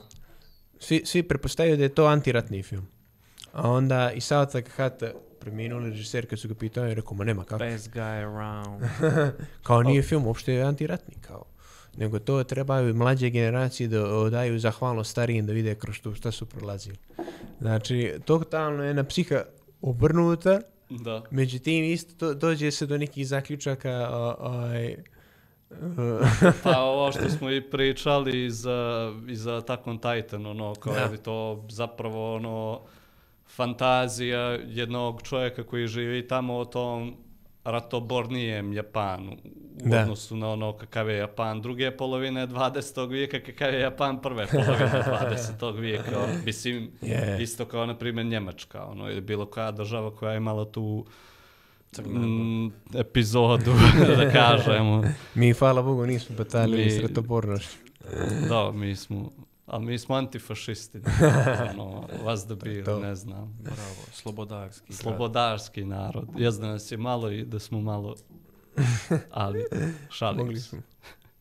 Svi, svi prepostavljaju da je to antiratni film. A onda i Sao Takahata, preminuli režiser, kad su ga pitali, je rekao, ma nema kako. Best guy around. Kao nije film uopšte antiratni, kao. Nego to trebaju mlađe generacije da odaju zahvalnost starijim da vide kroz to šta su prolazili. Znači, totalno je na psiha obrnuta, Da. međutim isto to, dođe se do nekih zaključaka o, oj, Pa ovo što smo i pričali i za, i za Attack on Titan, ono, kao Da. je li to zapravo ono fantazija jednog čovjeka koji živi tamo o tom ratobornijem Japanu u Da. odnosu na ono kakav je Japan druge polovine dvadesetog vijeka, kakav je Japan prve polovine dvadesetog vijeka. Ono, mislim, Je. isto kao, na primjer, Njemačka, ono, ili bilo koja država koja je imala tu mm, epizodu, da kažemo. Mi, hvala Bogu, nismo batalili Mi- s ratobornošću. Da, mi smo, ali mi smo antifašisti. Ono, vas da bili, to. ne znam. Bravo, slobodarski. grad. Slobodarski narod. Jaz da nas je malo i da smo malo, ali šalim Mogli se. smo.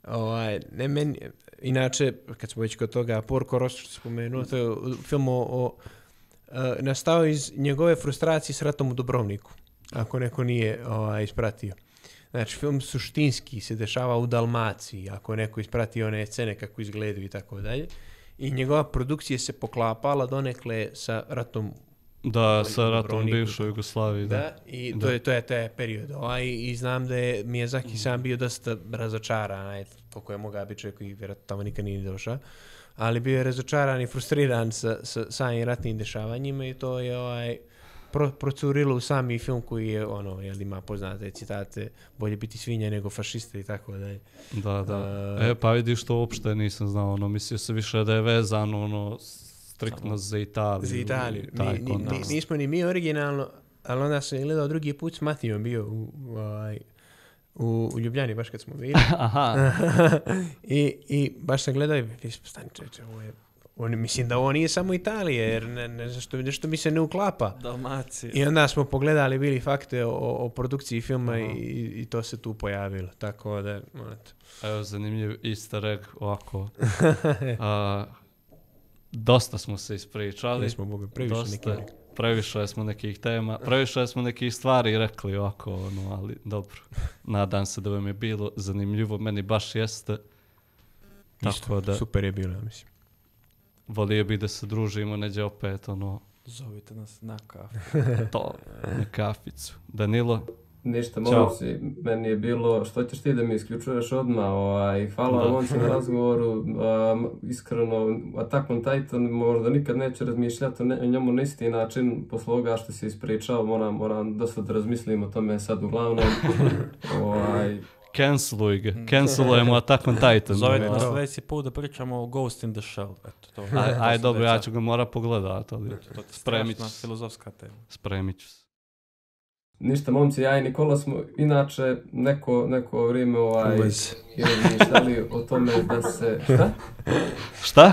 Ovaj, ne, meni, inače, kad smo već kod toga, Porco Rosso što spomenuo, to je film o, o e, nastao iz njegove frustracije s ratom u Dubrovniku, ako neko nije ovaj, ispratio. Znači, film suštinski se dešava u Dalmaciji, ako neko isprati one scene kako izgledaju i tako dalje. I njegova produkcija se poklapala donekle sa ratom. Da, sa ratom u Dubrovniku. bivšoj Jugoslaviji, da. Da, i to Da. je to je taj period. Ovaj, i znam da je Miyazaki sam bio dosta razočaran, aj, koliko je mogao biti čovjek koji vjerojatno tamo nikad nije došao, ali bio je razočaran i frustriran sa, sa samim ratnim dešavanjima i to je ovaj, pro, procurilo u sami film koji je, ono, jel, ima poznate citate, bolje biti svinja nego fašiste i tako dalje. Da, da. A- E, pa vidiš, to uopšte nisam znao, ono, mislio se više da je vezano, ono, striktno Samo za Italiju. Za Italiju. i taj Ni, ni, kontekst. ni- nismo ni mi originalno, ali onda sam gledao drugi put s Matijom bio u, u, ovaj, u, u Ljubljani, baš kad smo bili. Aha, I, I baš sam gledao i mislim, stani čeče, ovo je, on, mislim da ovo nije samo Italija, jer ne, ne, zašto, nešto mi se ne uklapa. Dalmacija. I onda smo pogledali bili fakte o, o produkciji filma Aha. i, i to se tu pojavilo. Tako da, eto. evo zanimljiv easter egg, ovako. A, dosta smo se ispričali. Nismo mogli previše dosta, neki. previše smo nekih tema, previše smo nekih stvari rekli ovako, ono, ali dobro. Nadam se da vam je bilo zanimljivo, meni baš jeste. Tako Isto, da, super je bilo, ja mislim. volio bi da se družimo neđe opet, ono, Zovite nas na kafu. to, na kaficu. Danilo, Ništa, Ćao. momci, meni je bilo, što ćeš ti da mi isključuješ odmah, ovaj, hvala Da. vam momci na razgovoru, um, iskreno, Attack on Titan možda nikad neće razmišljati o ne- o njemu na isti način, posle ovoga što si ispričao, moram, moram dosta da razmislim o tome sad uglavnom, ovaj, canceluj ga, cancelujemo Attack on Titan. Zovite Ono. nas to. sljedeći put da pričamo o Ghost in the Shell. Eto, to. Aj, aj to dobro, sljedeća- ja ću ga mora pogledat, ali Eto, to je spremit ću strašna se. filozofska tema. Spremit ću se. ništa momci, ja i Nikola smo inače neko, neko vrijeme ovaj, Uvez. i razmišljali o tome da se, šta? Šta?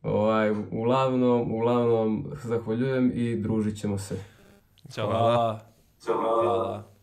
Ovaj, uglavnom, uglavnom, zahvaljujem i družit ćemo se. Ćao. Hvala. Hvala.